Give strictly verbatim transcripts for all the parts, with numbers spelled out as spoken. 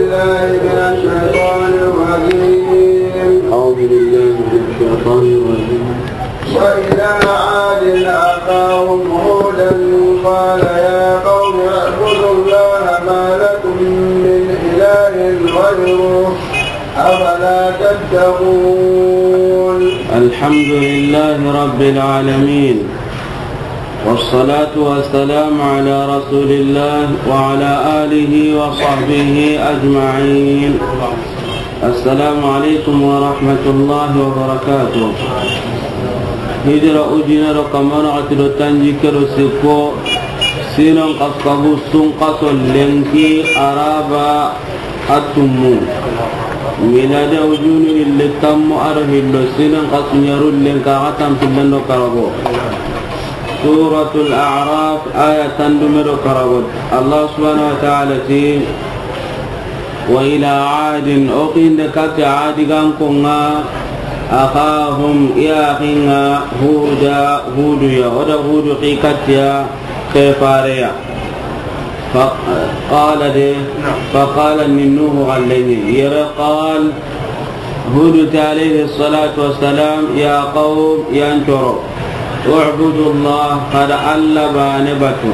بالله من الشيطان الرجيم. أعوذ بالله من الشيطان الرجيم. وإلى عاد أخاهم هودا قال يا قوم اعبدوا الله ما لكم من إله غيره أفلا تتقون. الحمد لله رب العالمين، والصلاة والسلام على رسول الله وعلى آله وصحبه أجمعين. السلام عليكم ورحمة الله وبركاته. Hijira ujine do kamana xati do tanjikke do sikko, sinon xaskabu sun xaso lenki araba a tummu. Miladi ujunu hilli tammu aro hillo, sinon xasu ɲaru lenka xa tampillen do karago. Suratul A'raf, aya tandume do karago. Allah subhanahu wa ta'ala ti, wa ila adin, o xinde kati adi gankonga, akhahum, i axinga, huda, hudu ya, o da hudu xi katiya, ke fareya. Fa qala de, fa qala ni Nuhu allayni, yere qal, Hudu ti alayhi salatu wassalam, ya qawm, yan coro, u'budu Allah, kada Allah bane batu.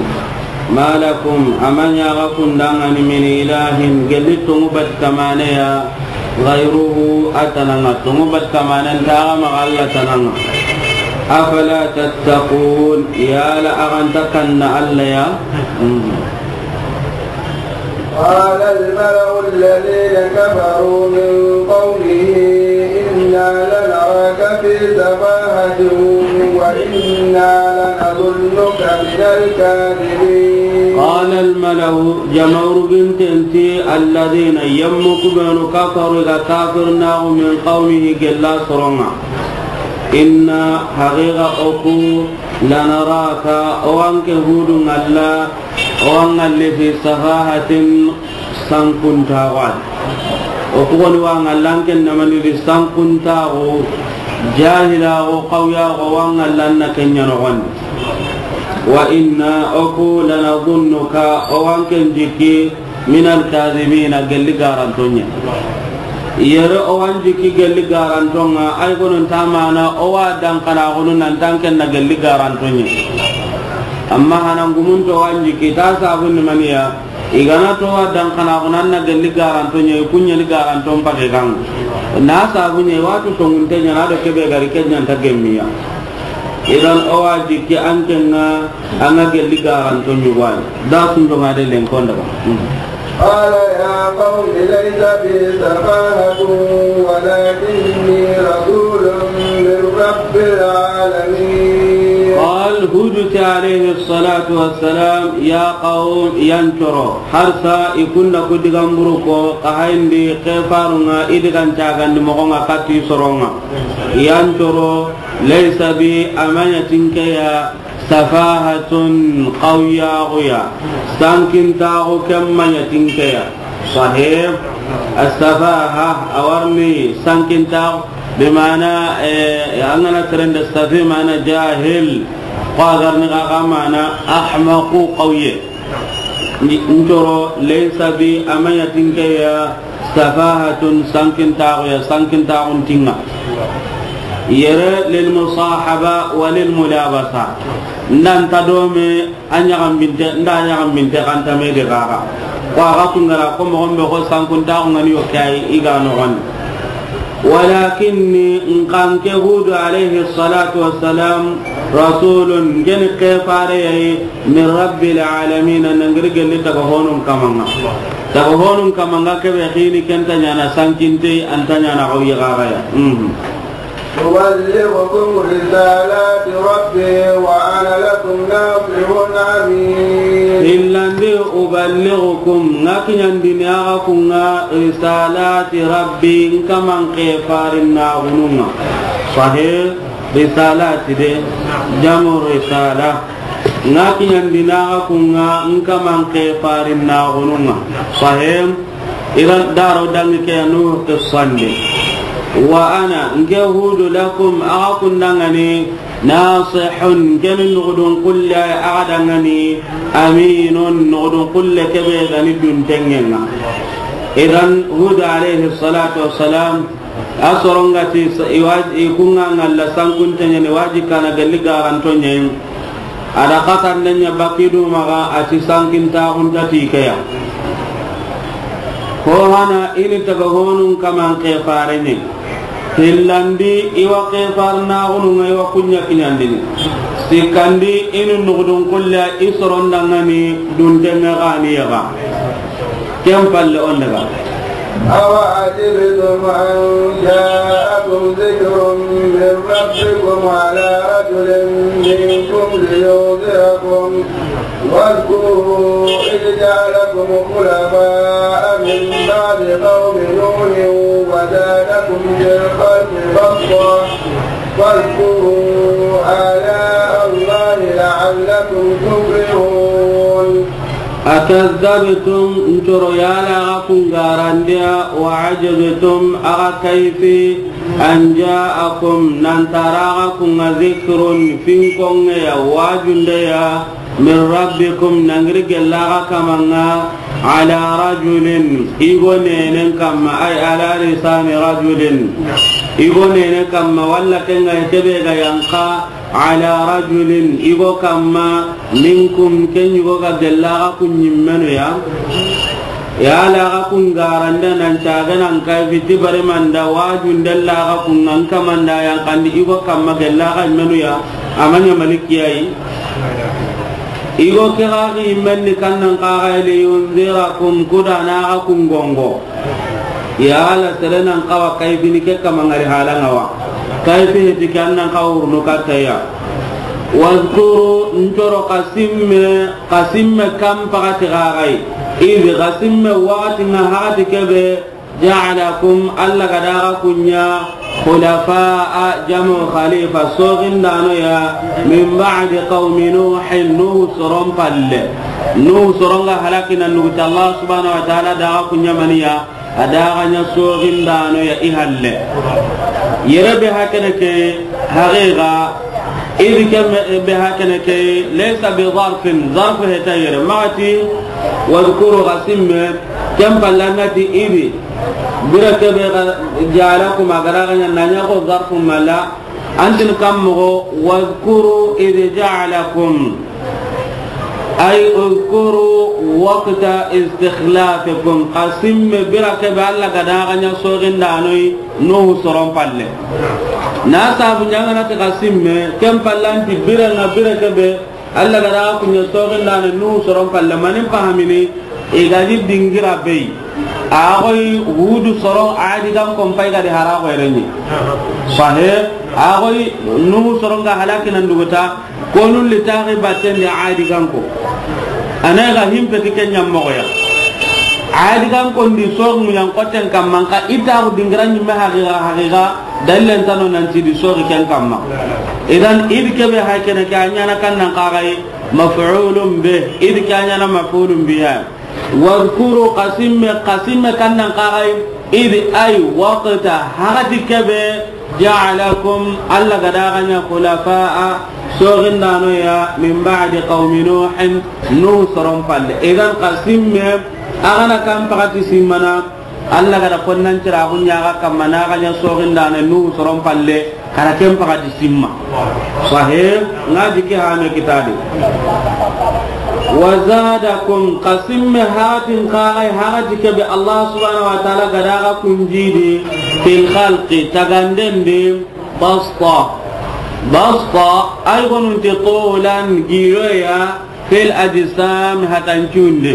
Ma lakum, a ma ɲa ga kundangani, min ilahin, gelli tongu bat kamane ya, ghayruhu, a tananga, tongu bat kamane nta ga ma Allah tananga. Afala tattaqun, yala a ga nta kanna Allah ya? قال الملأ الذين كفروا من قومه إنا لنراك في سفاهة وإنا لنظنك من الكاذبين. قال الملأ، jamaahuru binten ti, الذين, yemmu ku benu, كفروا, ga kafirnaxu, من قومه, gella soronga. Inna, haqiqa oku, lanaraka, o wanke hudu ngalla, o wangalle fi safahatin, sankuntaxu. O kugoni wa ngalla anken namani di sankuntaxu, jahilaxu, xawyaxu, o wangalla anna kenya noxondi. Wa inna, oku, lanazunnuka, o wanken jikki, من الكاذبين, gelli garantonya. Yere o wan jikki gelli garantonga, ay gonon tamana, o wa dankana gonon nan tanken na gelli garantonya. Amma hanan gumun to wan jikki ta sabun maniya, igana to wa dankana gonon na gelli garantonya, kunya ni garanton pake kan. Na sabunye watu tonguntenya na do kebe gari kenya ta gemmiya. Idan o wa jikki ankenga, anga gelli garanto ɲugwani. Da sun do ngade len konda ba. قال يا قوم ليس بي سفاهة ولكني رسول من رب العالمين. قال هود عليه الصلاة والسلام، يا قوم, yan coro. Harsa i kunda ku digan buru ko, ka hayndi ke farunga i digan cagandi mogonga kati soronga. Yan coro, laysa bi, a ma ɲa tinkeya, safahatun, xawyaxuya, sankintaxu, ken ma ɲa tinkeya. Sahih. As-safaha, a warni sankintaxu, bi mana, eh, an gana serende safi mana jahil, ko a garni xa xa mana ahmaqu, xawye. Ni ntoro, laysa bi, a ma ɲa tinkeya, safahatun, sankintaxuya, sankintaxun tinga. Yere lil musahaba wa lil mulabasa. Nda nta dome a ɲaxambinte, nda a ɲaxambinte xanta me de xaxa. Ko a xa kungara ko moxon be xo sankuntaxu ngani yo kay i ga noxondi. Walakinni, nkan ke Hudu alayhi salatu wassalam, rasulun, ngeni ke fare yayi, min rabbil alamin, nangiri gelli taga honun kamanga. Taga honun kamanga kebe xini kenta ɲana sankinte, anta ɲana xawyi xaxaya. Mhm. أبلغكم رسالات ربي وأنا لكم ناصح أمين. Hillandi, أبلغكم, nga kiɲandini axa kunga, رسالات ربي, nkaman ke farinnaxununga. Sahih, رسالات de, جمع رسالة. Nga kiɲandini axa kunga, nkaman ke farinnaxununga. Sahih. Iran daro dangi ke Nuhu qissandi. Wa ana, nke Hudu, lakum, axa kundangani, nasihun, nkeni nugudun kulle axa dangani, aminun, nugudun kulle kebe gani duntengenga. Idan, Hud alayhi salatu wassalam, a soron ga ti sa-, i wa-, i ku ŋa ŋalla sankunte ɲa ni, waji kana galli garanto ɲa yi. A da xatande ɲa bakidu maxa, a ti sankintaxunta ti ke ya. Ko hana i ni taga honun kaman ke fare ɲi. Hillandi, i wa ke farnaxunu ŋa, i wa ku ɲa kiɲandini. Sikkandi, i ni nugudun kulle, i soron da ŋa ni dunte ŋa ga ni ya ga. Ken palle on daga. أوعجبتم أن جاءكم ذكر من ربكم على رجل منكم لينذركم واذكروا إذ جعلكم خلفاء من بعد قوم نوح وزادكم في الخلق بسطة فاذكروا آلاء الله لعلكم تفلحون. أكذبتم, ncoro yala xa kun garandiya, وعجبتم, axa kayfi, أن جاءكم, nan tara xa kun ŋa, ذكر, finkonŋe ya, wajunde ya, من ربكم, nangiri gella xa kaman ŋa, على رجل, i go nenen kamma, أي على لسان رجل, i go nenen kamma, walla ken ŋa kebe ga yanqa, على رجل, i go kamma, منكم, ken i go ga gella xa kun ɲimmenu ya. Yala xa kun garande nan caga nan kay fiti bari manda wajunde la xa kun ŋa kamanda yanqandi i go kamma gella xa ɲimmenu ya. Amanya maliki yayi. I go ke xa ɲimmen ni kannan xa ga, لينذركم, kuda na xa kun gongo. Yala sere nan xawa kayfini ke kama ŋari hala ŋa wa. Kayfi heti ke an nan xawa wurnu katta ya. واذكروا, ncoro xa simme, xa simme kan paxati xa ga yi. إذ, xa simme waxati ŋa, waxati kebe, جعلكم, Alla ga da xa kun ɲa, خلفاء, jamu khalifa, soxindano ya, من بعد قوم نوح, Nuhu soron palle. Nuhu soron ga halaki nan nuguta, Alla subhanahu wa ta'ala da xa kun ɲa maniya, a da xa ɲa soxindano ya i halle. Yere be hakene ke, haqiqa, إذ ke me-, be hakene ke, ليس بظرف, zarfu heta yere. Maxa ti, واذكروا, xa simme, ken palle an ga ti إذ, bire ke be ga جعلكم, a ga da xa ɲa, na ɲa ko zarfu mala, an ti ni kan moxo, واذكروا إذ جعلكم. أي اذكروا وقت استخلافكم. Xa simme bire ke be Alla ga da xa ɲa soxindano yi Nuhu soron palle. Na sabu ɲa an ga na ti xa simme, ken palle an ti bire ŋa, bire ke be Alla ga da xa kun ɲa soxindano Nuhu soron palle, mani n fahamini, i ga di dingira be yi. A xoyi Hudu soron Adi gan kon pay ga di hara xoyrenni. Sahe, a xoyi Nuhu soron ga halaki nan duguta, Konu li taxi batten di Adi ganko. A na ga himpe ti ken ɲa moxo ya. Adi ganko ndi soxu ɲan xoten kamma, xa i taxu dingira ɲimme haqiqa, haqiqa, dalilen tano nan ti i di soxi ken kamma. Idan, إذ ke be hakene ke, a ɲaana kan nan xa ga yi, مفعول به, إذ ke a ɲaana مفعول به ya. واذكروا, xa simme, xa simme kan nan xa ga yi, إذ, أي وقت, waxati ke be, جعلكم, Alla ga da xa ɲa, خلفاء, soxindano ya, من بعد قوم نوح, Nuhu soron palle. Idan xa simme, a ga na kan paxati simmana, Alla ga da konnan cira xa kun ɲa xa kamma na xa ɲa soxindano Nuhu soron palle. Xa ra ken paxati simma. Sahe, ŋa jiki hame kitadi. وزادكم, xa simme haratin xa ga yi, harati ke be Allah subhanahu wa ta'ala ga da xa kun jidi, في الخلق, taganden di, بسطة. بسطة, ay gonun ti طولا, giroya, في الأجسام, hatancunde.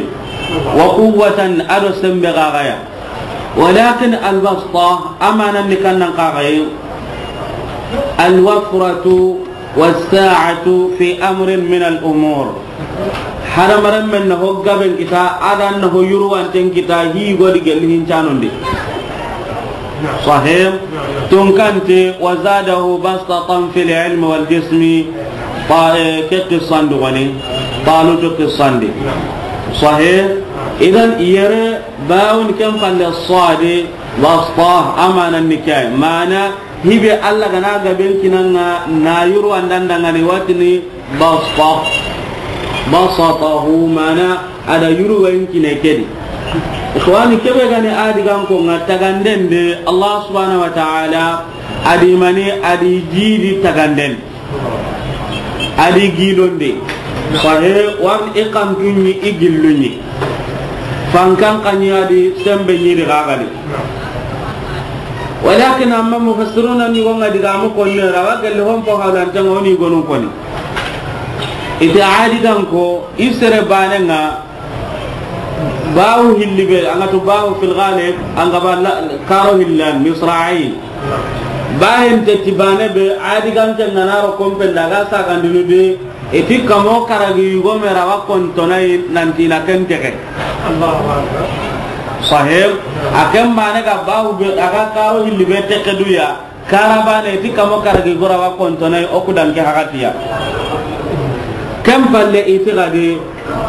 وقوة, a do sembe xa ga ya. ولكن البسطة, a maanan ni kan nan xa ga yi, الوفرة والسعة في أمر من الأمور. Hadamarenmen na ho gaben kita, a do na ho yurwanten kita, hi godi gelli hincanon di. Sahe, tunkante, وزاده بسطة في العلم والجسم, ba, eh, ke qissan di goni, Talutu qissan di. Sahe, idan yere, bawun ken palle sadi, بسطة, a maanan ni ke yi. Maana, hi be Allah ga na gaben kinanga, na yurwandan dangani watini, بسطة. بسطه, maana, a da yurwan kine ke di. Ixwani, kebe gani a di gan ko ŋa taganden de, Allah subhanahu wa ta'ala a di mani, a di jidi taganden, a di gilonde. Fahe, war i kantunni, i gillunni. Fankan kani a di sembe ni di gagani. Walakin amma mufassiruna ni gonga diga mu konne rawa gelle hon po hawlan tan woni gonun koni. Ite a di gan ko i sere bane ŋa bahu hilli be, an ga tu bahu fil ghalib, an ga ba la, karo hillan, misra'i. Bahen te tibane be, a di gan te ŋa na ro kompe nda ga sa gandinu de, iti kamo karagi yugo me rawa kontonai nanti na ken teke. Sahib, a ken bane ga bahu be, a ga karo hilli be teke duya. Karabane, iti kamo karagi gora wa kontonai, o kudan ke hakatiya. Ken palle iti gadi,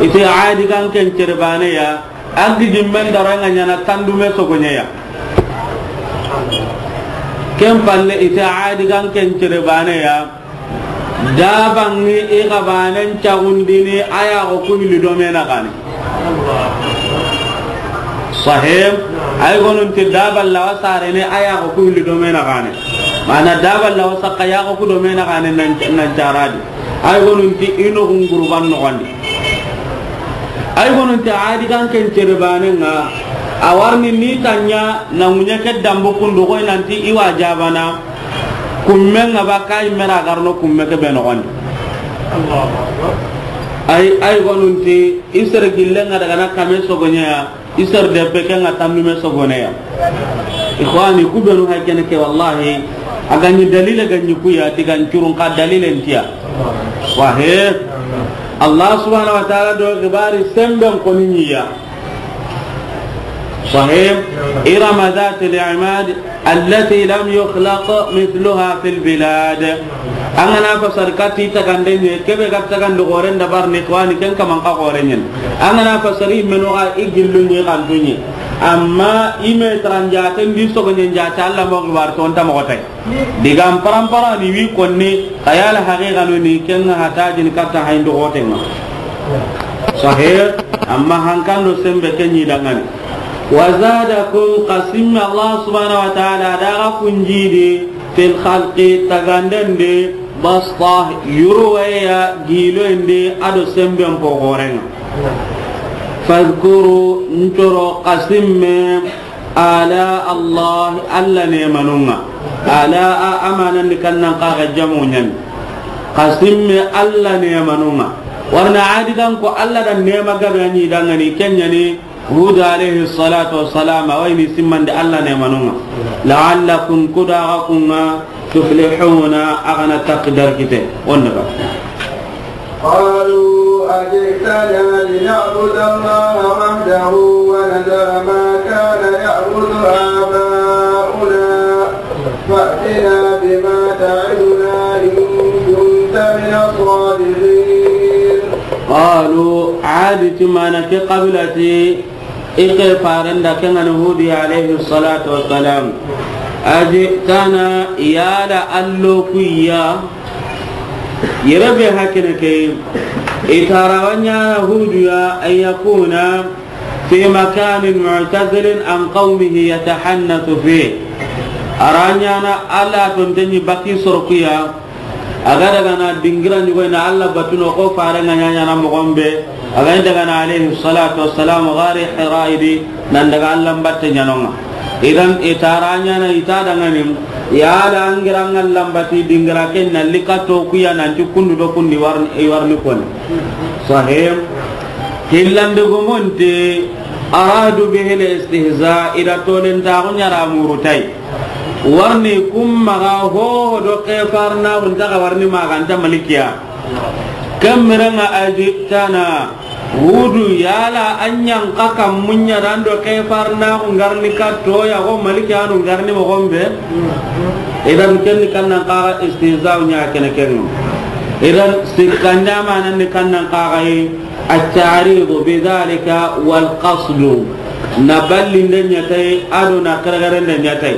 iti a di gan ken cerbane ya, a gidi men daranga ɲana tandume sogoɲe ya. Ken palle iti a di gan ken cerbane ya, dabangi i gabanen cagundini a ya go ku hilli do me na gani. Sahib, ay gonun ti daballa wa sarene a ya go ku hilli do me na gane. Mana daballa wa sakka ya go ku do me na gane nan, nan caradi. Ay gonun ti ino gunguru ban no gandi. Ay gonun ti a di gan ken cerbane ŋa, a warni ni tanya na munye ke dambu kundu koy nanti i wa jabana. Kumme ŋa ba kay mera garno kumme ke be no gandi. Ay, ay gonun ti i sere gille ŋa daga na kame sogoɲe ya, i sere debe ke ŋa tandume sogone ya. Ikhwani, ku benu hay kene ke, wallahi, a gani dalile gani ku ya, ti gan curun ka dalile ntiya. Wahe, Allah subhanahu wa ta'ala do gibari semben koni ni ya. Sahib, إرم ذات العماد التي لم يخلق مثلها في البلاد. An ga na fasar kati tagande ɲe, kebe ga tagande goren da barni kwani ken kaman ka goren ɲen. An ga na fasari meno ga i gillu ɲe kan tunye. Amma i me tran jate ndi sogo ɲen jate Allah mo gibar ton ta mo tay. Digan parampara ni wi konni, xayal haqiqa no ni, ken ŋa hata jin katta hayndo goten ŋa. Sahih, amma hankando sembe ken ɲi dangani. Wa zadakum, xa simme Allah subhanahu wa ta'ala da ga kun jidi, fil khalqi, taganden di, basta, yurweya, giloyen di, a do semben pogoren ŋa. Fadhkuru, ntoro xa simme, ala Allah, Allah nemanun ŋa. Ala a amanan di kannan xa ga jamu ɲan. Xa simme Allah nemanun ŋa. Warna a di gan ko Allah da nema gabe ɲi dangani ken ɲa ni Hud alayhi salatu wassalam, a wa i ni simmandi Allah nemanun ŋa. La'allakum, ku da ga kun ŋa, tuflihuna, a ga na taqdar kite. On daga. قالوا أجئتنا لنعبد الله وحده ونذر ما كان يعبد آباؤنا فأتنا بما تعدنا إن كنت من الصادقين. قالوا, a di ti mana ke qabilati, i ke farenda ke ŋa ni Hudi alayhi salatu wassalam. Ajitana, yala allo kuya, yere be hakene ke, i tarawa ɲa Hudu ya, an yakuna fi makanin mu'tazilin an qawmihi yatahannathu fi. A ra ɲaana Allah tonten ɲi baki soro kuya, a ga daga na dingira ɲugo na Allah batuno ko fare ŋa ɲaɲana mogon be, a ga daga na alayhi salatu wassalam gari Hira idi, nan daga Allah batte ɲanonga. Idan i tara ɲana i ta dangani, yala angira ŋa Allah bati dingira ken na lika to kuya nanti kundu do kundi warni, i warni koni. Sahim. Hillandi gumunti, aradu bihi al-istihza, i da tolen taxu ɲara murutay. Warni kum maxa hoho do kefarna unta xa warni maganta malikiya. Kemmirenga ajitana, Hudu, yala an ɲa n xa kammu ɲa dan do kefarna ngarni ka toya go malikiyanu ngarni mogon be. Idan kenni kannan xa istihza ɲa kene ken. Idan sikkanda manan ni kannan xa yi. التعريض بذلك والقصد. Na ballinde ɲa tay, a do na xerexerende ɲa tay.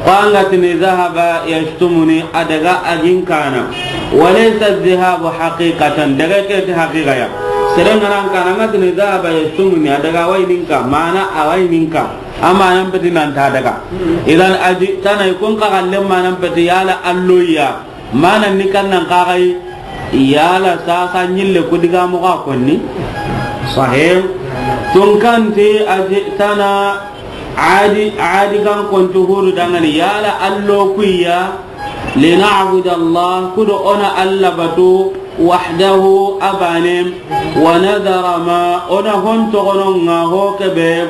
Ko an ga tini ذهب يشتمني, a daga a gin kana. وليس الذهاب حقيقة, daga ke ti haqiqa ya. Seren ŋa na an ka na ŋa tini dahaba yashtuni, a daga wa i ninka, mana a wa i ninka. A manan peti nan ta daga. Idan ajitana, i kun ka galle manan peti yala alloya. Mana ni kan nan ka gai yala sasa ɲille ku diga mo ga konni. Sahih. Tun kan ti ajitana adi, adi kan kontu Hudu dangani yala allo kuya. Lina'budu Allah, kudo ona Allah batu, wahdahu, a bane, wa nadhara ma, ona hon togono ŋa ho kebe,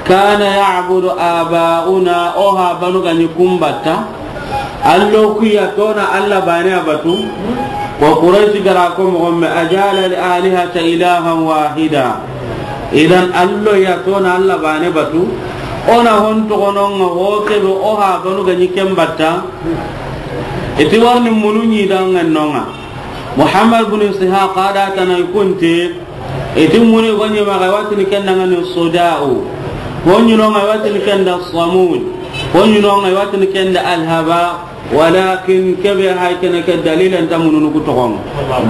kana ya'budu aba'una, o ha banu ga ɲi kun batta. Allo kuya tona Allah bane a batu. Wa Quraysh gara ko mo gomme, ajala al-alihata ilahan wahida. Idan allo ya tona Allah bane batu. Ona hon togono ŋa ho kebe, o ha banu ga ɲi ken batta. Iti warni munu ɲi dangan no ŋa. Muhammad bin Ishaq a da tana i kunte, iti munu i go ɲi ma ga i wa tini ken da ŋa ni Suda'u. Ho ɲi no ŋa i wa tini ken da Samud. Ho ɲi no ŋa i wa tini ken da Alhaba. Walakin kebe hay kene ke dalilan ta mununu ku toxon.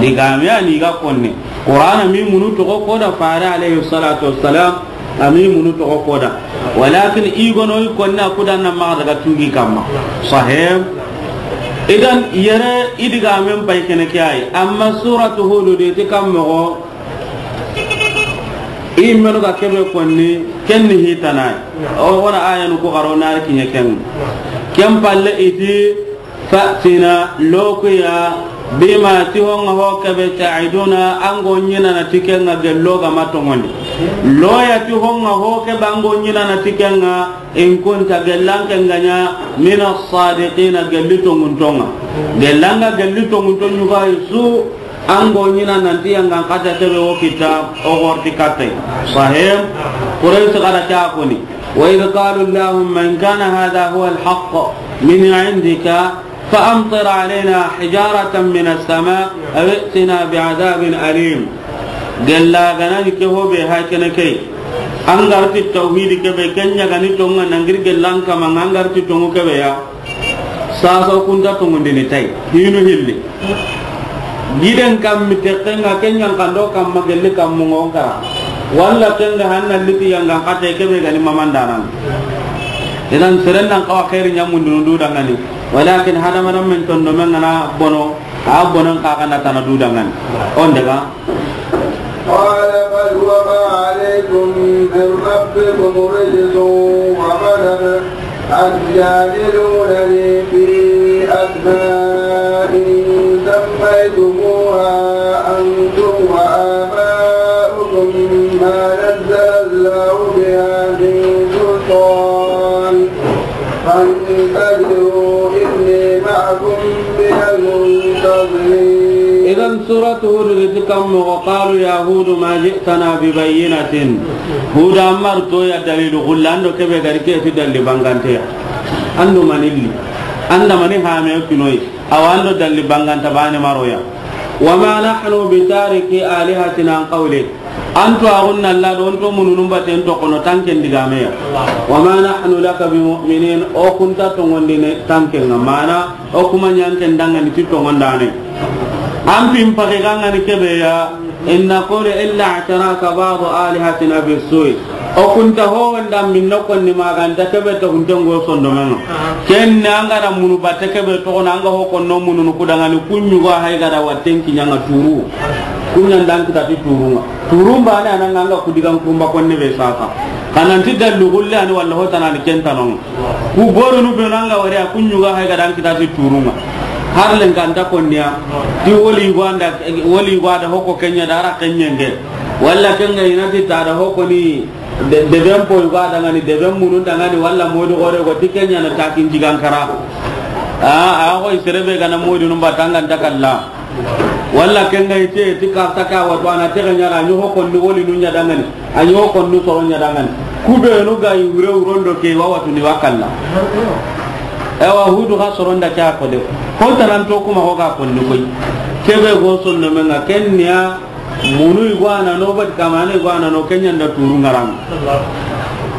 Digame ani ga konne. Qur'ana mi munu toxo ko da fare alayhi salatu wassalam. Ami munu toxo ko da. Walakin i gono i konne a ku da na ma daga tugi kamma. Sahih. Idan yere i digamen pay kene ke ay. Amma suratu Hud de ti kammo go. I menu ga kebe konni, ken ni hitana. O wona ayanu ku garo nar kiɲe ken. Ken palle iti, fa'tina, lokuya, bima ti honga ho kebe ta'iduna, an go ɲinana ti ken ŋa gello ga ma tongondi. Loya ti honga ho kebe an go ɲinana ti ken ŋa, in kunta gellan ken ga ɲa, mina sadiqina gelli tonguntonga. Gellan ga gelli tongunton ɲuga su, An go ɲina nanti yangan kata kebe wo kita, o gorti katte. Sahih. Quraysh kada ta koni. وإذ قالوا اللهم إن كان هذا هو الحق من عندك فأمطر علينا حجارة من السماء أو ائتنا بعذاب أليم. Gella ganani ke hobe ha kene ke. An garti tawhidi kebe kenya gani tonga nangir gellan kama an garti tongu kebe ya. Sasa o kunta tongondini tay hinu hilli. Giden kammi tekkenga kenyan kando kamma gelli kammu ngonka. Walla kenga hanna liti yanga kate kebe gani mamandanan. Idan seren nan kawa khairi nyamundunu du dangani. Walakin hadamanan men tondo men ngana bono, a bonon ka kana tana du dangani. On daga. قال بل وقع عليكم من ربكم رجس وغضب أتجادلونني في أسماء سميتموها أنتم وآباؤكم ما نزل الله بها من سلطان فانتظروا إني معكم من المنتظرين. Idan suratu Hud ti kammo, وقالوا يا هود ما جئتنا ببينة. Huda an ma ri toya dalilu gulle, an do kebe gari ke ti dalli bangante ya. An do manilli. An da mani hame kinoyi. Awa an do dalli banganta bane ma ro ya. وما نحن بتاركي آلهتنا عن قولك. An to agunna Allah do, on to mununun baten to kono tanken digame ya. وما نحن لك بمؤمنين, o kunta tongondini tanken nga mana, o kuma nyanken dangani ti tongondane. An pin pake gangani kebe ya, إن نقول إلا اعتراك بعض آلهتنا بالسوء. O kunta ho wanda min no konni maganta kebe to hunde ngo sondomenga. Ken na anga da munu batte kebe to kona anga ho konno mununu kudangani kunyugo hay gada watten kinyanga turu. Kunyan dan kita ti turunga. Turumba ne ananga anga kudigan kumba konne be sasa. Kananti dallu gulle ani walla ho tanani ken tanonga. Ku gorunu be nanga wari a kunyugo hay gada kita ti turunga. Har len kanta konniya. Ti woli gwanda, woli gwada hoko kenya dara kenyenge. Walla kenga inati tada hoko ni De, deben poy ga dangani, deben munun dangani, walla modi gore go ti kenya na takin jigankara. A, a go iserebe gana modi num batanga ntakalla. Walla kenga ite ti ka taka wato ana tege nyara anyo ko ni woli nunya dangani. Anyo ko ni soro nya dangani. Kube no ga yure urondo ke wa watu ni wakalla. Ewa Hudu ga soronda kya ko de. Ko tanan to kuma ko ga ko ni koy. Kebe go sonno menga kenya. Munu igwana no, bati kamane igwana no, kenyanda turu ngarang.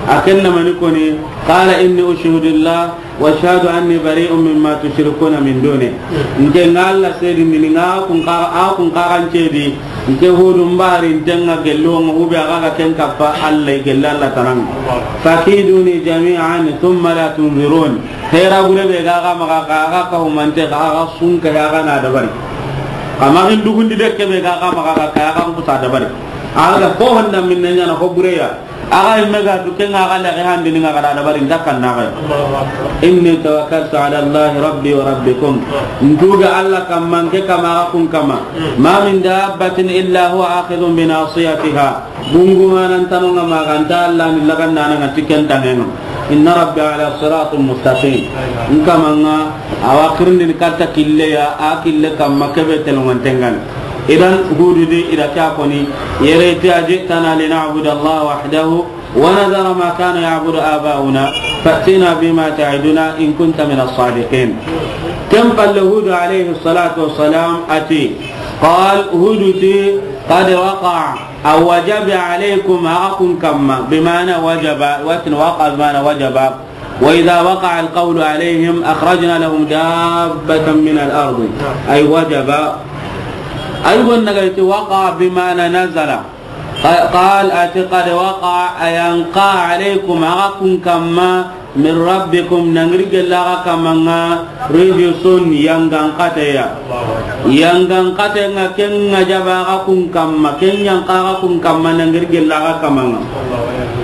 A ken na mani koni, qala inni ushhidu Allah wa ashhadu anni bari'un mimma tushrikuna min duni. Nke nga Alla seedindi ni nga kun ka, a kun ka kan ceedi, nke Hudu mbari ntenga gello nga hube aga ga ken kappa Alla gella Alla tanang. Fakiduni jami'an thumma la tunzirun. Hera gure be ga ga maga ka aga ka humante ka aga sunka ya ga na dabari. Kama in dugundi de ke be ga ga maga ka aga kusa dabari. Aga ko honda minne nya na ko gure ya. Aga imme ga tu ken ga ga lagi handini nga ga da dabari nta kan na ga. Inni tawakkaltu ala Allah rabbi wa rabbikum. Ntuga Alla kamma nke kama aga kun kama. Ma min dabbatin illa huwa akhidhun bi nasiyatiha. Bungu manan tano nga ma ga nta Alla ni lagan nana nga tiken tanenga. Inna rabbi ala siratin mustaqim. Nkama nga awa kirindini katta kille ya, a kille kamma kebe telongan tengan. Idan Hudu di ida ke a koni, yere ti ajitana lina'budu Allah wahdahu wa nadhara ma kana ya'budu abauna, fa'tina bima ta'iduna in kunta min as-sadiqin. Ken palle Hudu alayhi salatu wassalam ati, qal Hudu ti, qad waqa, a wajabi alaykum, aga kun kamma, bimana wajaba, watin waqa bimana wajaba. وإذا وقع القول عليهم أخرجنا لهم دابة من الأرض. أي وجب. أي ونغيت وقع بمعنى نزل. ق-، قال أتي قد وقع، أي أنقى عليكم، أغاكم كما من ربكم، نغرق الله كما رجس، ينغن قتيا. ينغن قتيا كن جبا أغاكم كما، كن ينقى أغاكم كما، نغرق الله كما.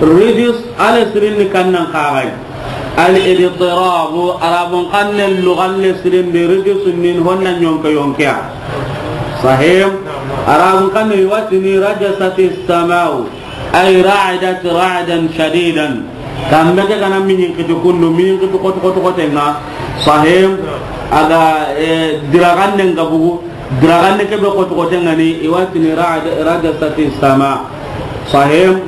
رجس على سرين كان نقاغي. Al-idtirabu, Arabun xannen lugan le sirindi, rijsun ni honna yonke yonkeya. Sahih? Arabun xannen i wa tini rajasati samau, ay ra'adat ra'dan shadidan. Kambe ke ga na miɲin kiti kundu, miɲin kiti koto koto kotenga. Sahih? A ga, eh, diraxannen ga bugu, Diraxande ke be xoti xote ŋa ni, i wa tini ra'ad-, rajasati sama. Sahih.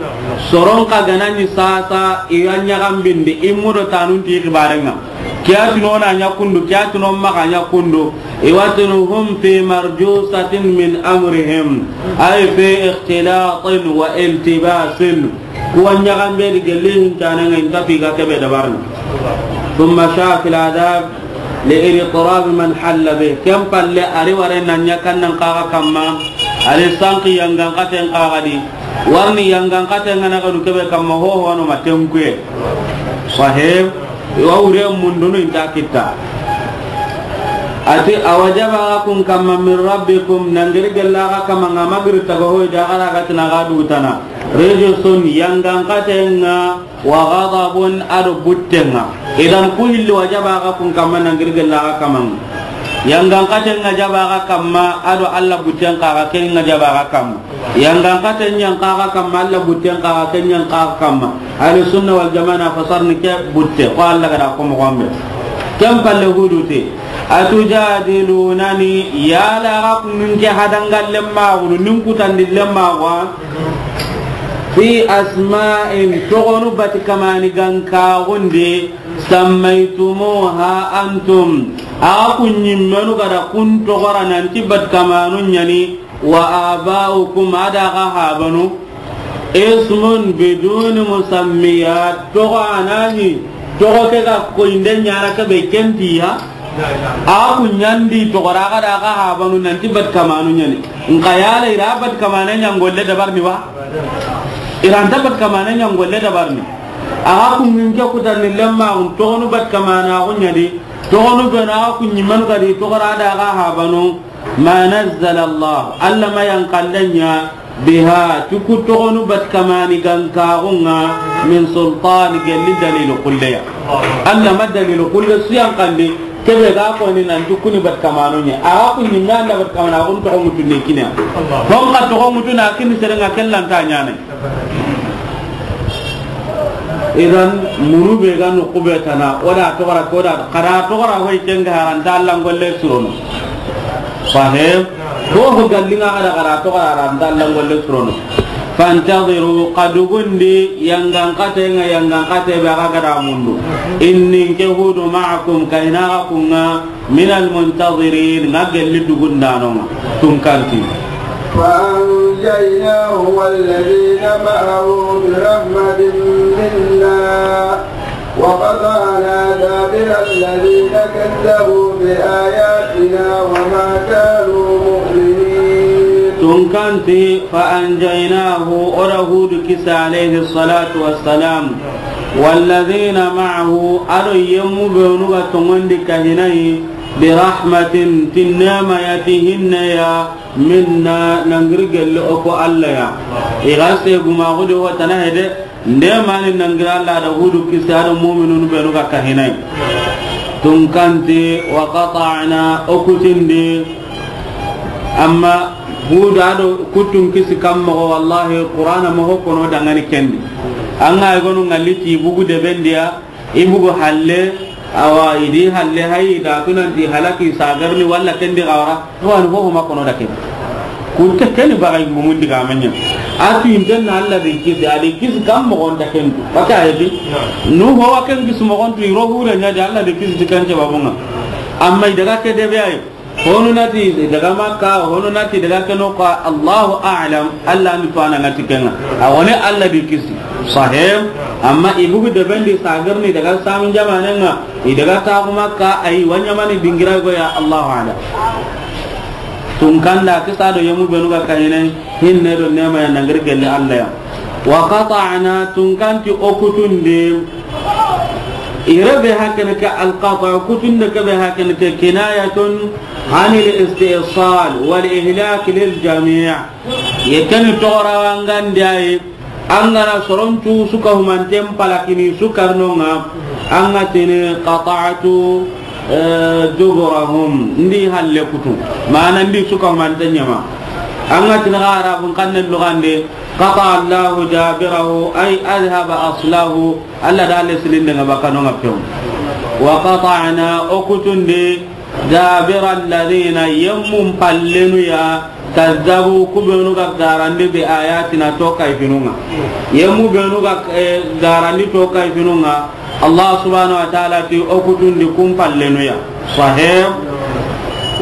Soron xa ga na ni sasa, i ya ɲaxambindi, i mudo tanun ti xibarenŋa. Ke ya tini o na ɲa kundu, ke ya tini o maxa ɲa kundu. I wa tini hum fi marjusatin min amrihim, ay fi ikhtilatin wa iltibasin. Kuwa ɲaxambe di gelli hincanenŋa, i nta fi ga kebe dabarni. Thumma sha'a fil adhab li idtirab man halla bih. Ken palle a ri ware na ɲa kannan xaxa kamma, a ri sanki yangan xaten xaxa di. Warni yangan xaten ŋa na ga du kebe kamma ho ho no ma tenkuye. Sahih. I wa wure mundunu i nta kitta. A ti, a wajaba axa kun kamma min rabbikum, nangiri gella axa kamma ŋa magiri taga hoy da axa ra ga tina axa dugutana. Rijsun, yangan xaten ŋa, wa ghadabun, a do butten ŋa. Idan ku hilli wajaba axa kun kamma nangiri gella axa kamma ŋa. Yangan xaten ŋa jaba axa kamma, a do Alla butten xaxa ken ŋa jaba axa kamma. Yangan xaten ɲan xaxa kamma, Alla butten xaxa ken ɲan xaxa kamma. Ahlu sunna wal jamaa na fasarni ke butte, ko Alla ga da ko moxo be. Ken palle Hudu ti, atujadilunani, yala axa kun ke hadangallen maxunu, nin kutandillen maxu, fi asma'in, toxonu bati kamani gankaxundi, sammaytumuha antum, axa kun ɲimmenu ga da kun toxora nanti bati kamanu ɲa ni, wa aba'ukum, a da axa habanu, ismun biduni musammiyat, toxo a na ɲi, toxo ke ga koyinde ɲana ke be ken ti ya. Axa kun ɲa ndi toxora axa da axa habanu nanti bati kamanu ɲa ni. Nxa yala i ra bati kamane ɲangolle dabarni wa? I ra nta bati kamane ɲangolle dabarni. Axa kun ŋin ke kutandillen maxun toxonu bati kamanaxu ɲa di. Toxonu benu axa kun ɲimmenu ga di toxora a da axa habanu. Ma nazzala Allah, Alla ma yanqandaɲa, biha, ti ku toxonu bati kamani gankaxun ŋa, min sultan, gelli dalilu xulleya. Alla ma dalilu xulle su yanqandi, kebe ga koni nanti kuni bati kamanu ɲa. Axa kun ɲimme Alla bati kamanaxun toxo ŋutunde kine ya. Hon xa toxo ŋutuna kini seren ŋa ken lanta ɲana. Idan, munu be ga noqu be tana, o da toxora, ko da, xa da toxora hoy ken ga haranta Alla ngolle surono. Sahih. Ko ho gallinga xa da, xa da toxora haranta Alla ngolle surono. Fantaziru, xa dugundi, yangan xaten ŋa, yangan xate be axa ga da mundu. Inni, nke Hudu, ma'akum, kayna axa kun ŋa, minal muntazirin, ŋa gelli dugundanon ŋa, tunkanti. فأنجيناه والذين معه برحمة منا وقطعنا دابر الذين كذبوا بآياتنا وما كانوا مؤمنين. Tunkanti, فأنجيناه, o da Hudu kisi, عليه الصلاة والسلام, والذين معه, a do yemmu benu ga tongondi kahinayi, برحمة, ti nema ya, ti hinne ya, منا, nangiri gelli o ko Alla ya. I ga se guma xudi ho tana hede, nde mani nangiri Alla da Hudu kisi a do muminunu benu ga kahinayi. Tunkanti, وقطعنا, o kutindi. Amma Hudu a do kutun kisi kamma ko, wallahi, Qur'ana ma ho kono dangani kendi. An ga i gonu ngalli ti bugu de bendiya, i bugu halle, awa, i di halle hayi, da tunanti halaki sagarni walla kendi gawara, to an ho ma kono da kendi. Kunte keni bagay mumun diga manya. A tu inten na Alla de kisi, a de kisi kam mo gonta kentu. Baka hedi. Nu ho wa ken kisi mo gontu, i ro hure nya de Alla de kisi ti kan jaba bunga. Amma i daga ke de be ay. Honu nati daga Makka, honu nati daga keno ka, Allahu a'lam, Alla ni fana ngati kenga. A woni Alla di kisi. Sahih, amma i bugu de bendi sagarni daga samin jamanenga, i daga taxu Makka, ay wanyamani dingira go ya, Allahu a'lam. Tunkanda kisa do yemu benu ga kayine, hinne do nema ya nangir gelle Alla ya. Wa qata'na, tunkanti o kutundi, ire be hakene ke alqata, kutunde ke be hakene ke kinayatun anil istisal wal ihlak lil jami'. Ye keni toxora wangandi ayi, an gana soroncu suka humanten palakini sukarnonga, an ga tini qata'tu, eh, duburahum, ndi halle kutu, mana ndi suka humanten ɲama. An ga tini xa arabun xannen lugande, qata Allahu dabirahu, ay adhaba aslahu, Alla da halle silinde nga bakano nga pew. Wa qata'na, o kutundi, dabira alladhina, yemmun pallenu ya, kazzabu, ku benu ga garandi bi ayatina, to kayfinunga. Yemmu benu ga, eh, garandi to kayfinunga. Allah subhanahu wa ta'ala ti o kutundi kun pallenu ya. Sahih.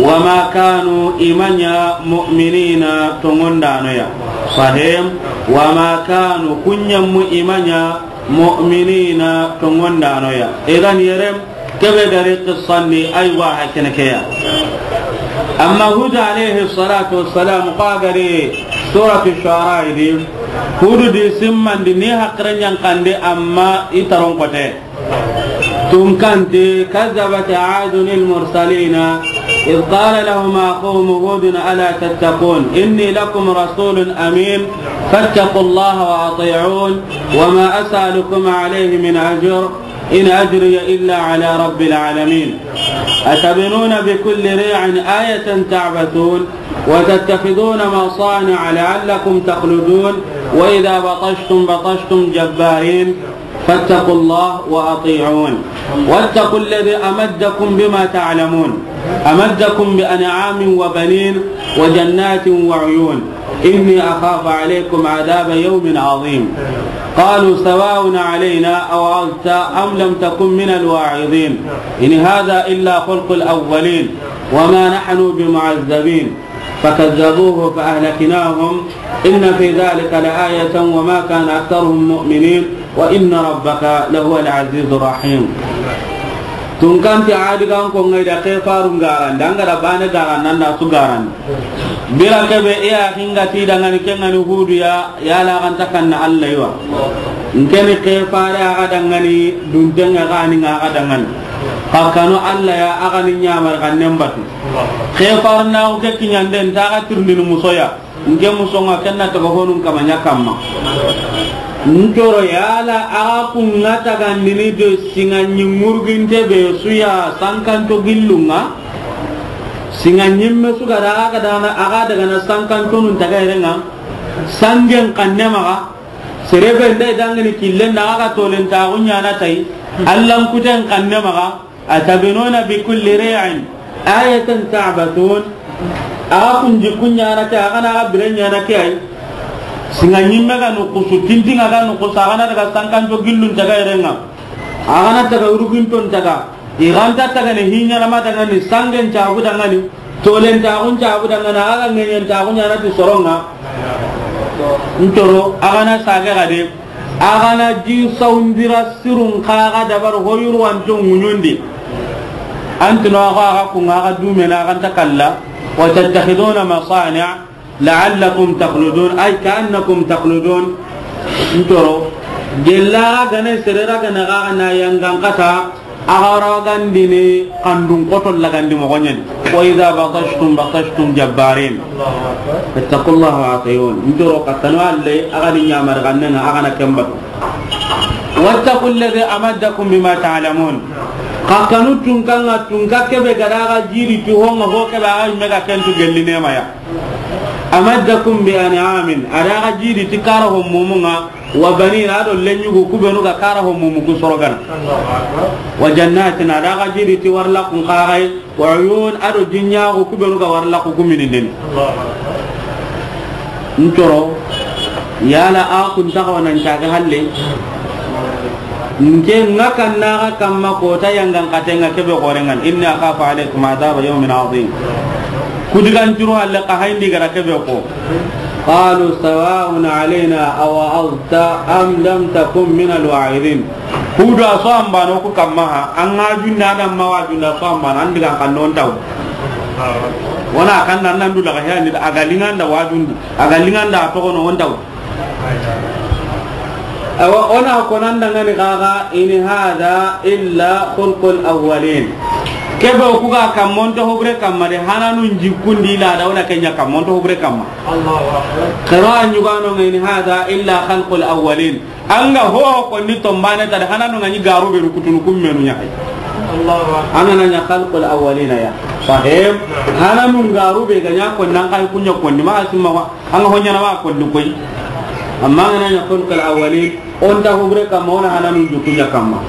Wa ma kanu, i ma ɲa, mu'minina, tongondano ya. Sahih. Wa ma kanu, kun yemmu i ma ɲa, mu'minina, tongondano ya. Idan yere, kebe gari qissan di, aywa, hakene ke ya. Amma Hud alayhi salatu wassalam, xa gari suratu Shu'ara di, Hudu di simmandi ni hakre ɲankande, amma i taron kote. Tunkanti, kazzabat Adun al-mursalina, إذ قال لهم أخوهم هود ألا تتقون إني لكم رسول أمين فاتقوا الله وأطيعون وما أسألكم عليه من أجر إن أجري إلا على رب العالمين أتبنون بكل ريع آية تعبثون وتتخذون مصانع لعلكم تخلدون وإذا بطشتم بطشتم جبارين فاتقوا الله وأطيعون واتقوا الذي أمدكم بما تعلمون أمدكم بأنعام وبنين وجنات وعيون إني أخاف عليكم عذاب يوم عظيم قالوا سواء علينا أوعظت أم لم تكن من الواعظين إن هذا إلا خلق الأولين وما نحن بمعذبين فكذبوه فأهلكناهم إن في ذلك لآية وما كان أكثرهم مؤمنين وإن ربك لهو العزيز الرحيم. Tunkanti Adi gan ko ngai da ke farun garan, danga da bane garan nan da su garan. Bira kebe iya hinga ti dangani kengani Hudu ya, ya la kan takanna Allah iwa. Nkeni ke fare aga dangani, duntenga gani nga aga dangani. Kakano Allah ya aga ni nyamar kan nembatu. Ke farna o ke kinyande nta ga tirndini musoya. Nke musonga kenna taga honun kama ɲa kamma. Ntoro yala aga kunga tagandini do singa ɲi murginte be suya sankanto gillunga. Singa ɲimme suga da aga dana aga daga na sankanto nun taga yerenga. Sangen kanne maga. Serebe ndai dangini killen da aga tolen tagu ɲana tai. Allan kuten kanne maga. أتبنون بكل ريع آية تعبثون. Aga kun jikku ɲana ke, aga na aga bire ɲana ke ay. Singa ɲimme ga nukusu, tintinga ga nukusu, aga na daga sankanto gillun taga yerenga. Aga na taga uruginton taga. Iganta taga ni hiɲana ma daga ni sangen cagu daga ni. Tolentaxun cabu dangana, a ga ŋeñentaxu ɲana ti soronŋa. N toro, a ga na sage xa de, a ga na ji sawundira sirun xa ga dabar hoyuru wanto ŋuɲundi. An tino a xa, a xa kunŋa, a xa dumena, a xa nta kalla. وتتخذون مصانع لعلكم تخلدون، أي كأنكم تخلدون. N toro, gella gane serera gana ga na yangan kata, a ga ra gandini kandun koto lagandi moxo ɲani. وإذا بطشتم بطشتم جبارين. فاتقوا الله وأطيعون. N toro, xa kanu Alla, a ga ni ɲamar ganne ŋa, a ga na ken batu. واتقوا الذي أمدكم بما تعلمون. Xa kanu tunka ŋa, tunka kebe ga da ga jiri ti honŋa ho kebe a ga me ga ken tu gelli nema ya. أمدكم بأنعام، a da ga jiri ti kara ho mumu ŋa, وبنين، a do lenyugu ku benu ga kara ho mumu ku sorogana. وجنات، a da ga jiri ti warla kun kagai, وعيون، a do jinyagu ku benu ga warla ku ku minindini. N toro, yala a kun ta xawa nan caga halle. Nke ŋa kanna ga kamma kota yangan katenŋa kebe xorenŋan. إني أخاف عليكم عذاب يوم عظيم. Kudigan curu halle xa hayindi gara kebe ko. قالوا سواء علينا أوعظت أم لم تكن من الواعظين. Hudu a so ambano ku kamma ha, an ga junda da ma wa junda so ambano, an digan kan non taw. Wona kan nan nan du daga hayani, a ga linganda wa jundu, a ga linganda to kono on taw. Awa, o na ko nan dangani gaga, إن هذا إلا خلق الأولين. Kebe ku ga kammonto hobure kamma de, hananun jikkundi la da wona kenya kammonto hobure kamma. Allahu Akbar. Xero a ɲugano ŋa, إن هذا إلا خلق الأولين. An ga ho konni tombane ta de, hananun ŋa ni garu be rukutunu kummenu ɲa hay. Allahu Akbar. An ga na ɲa خلق الأولين ya. Sahib. Hananun garu be ga ɲa konni an kay kunya konni ma asimma wa. An ga ho ɲana ma konni koy. Amma an ga na ɲa خلق الأولين. O nta hubure kamma, o na hananu jukunya kamma.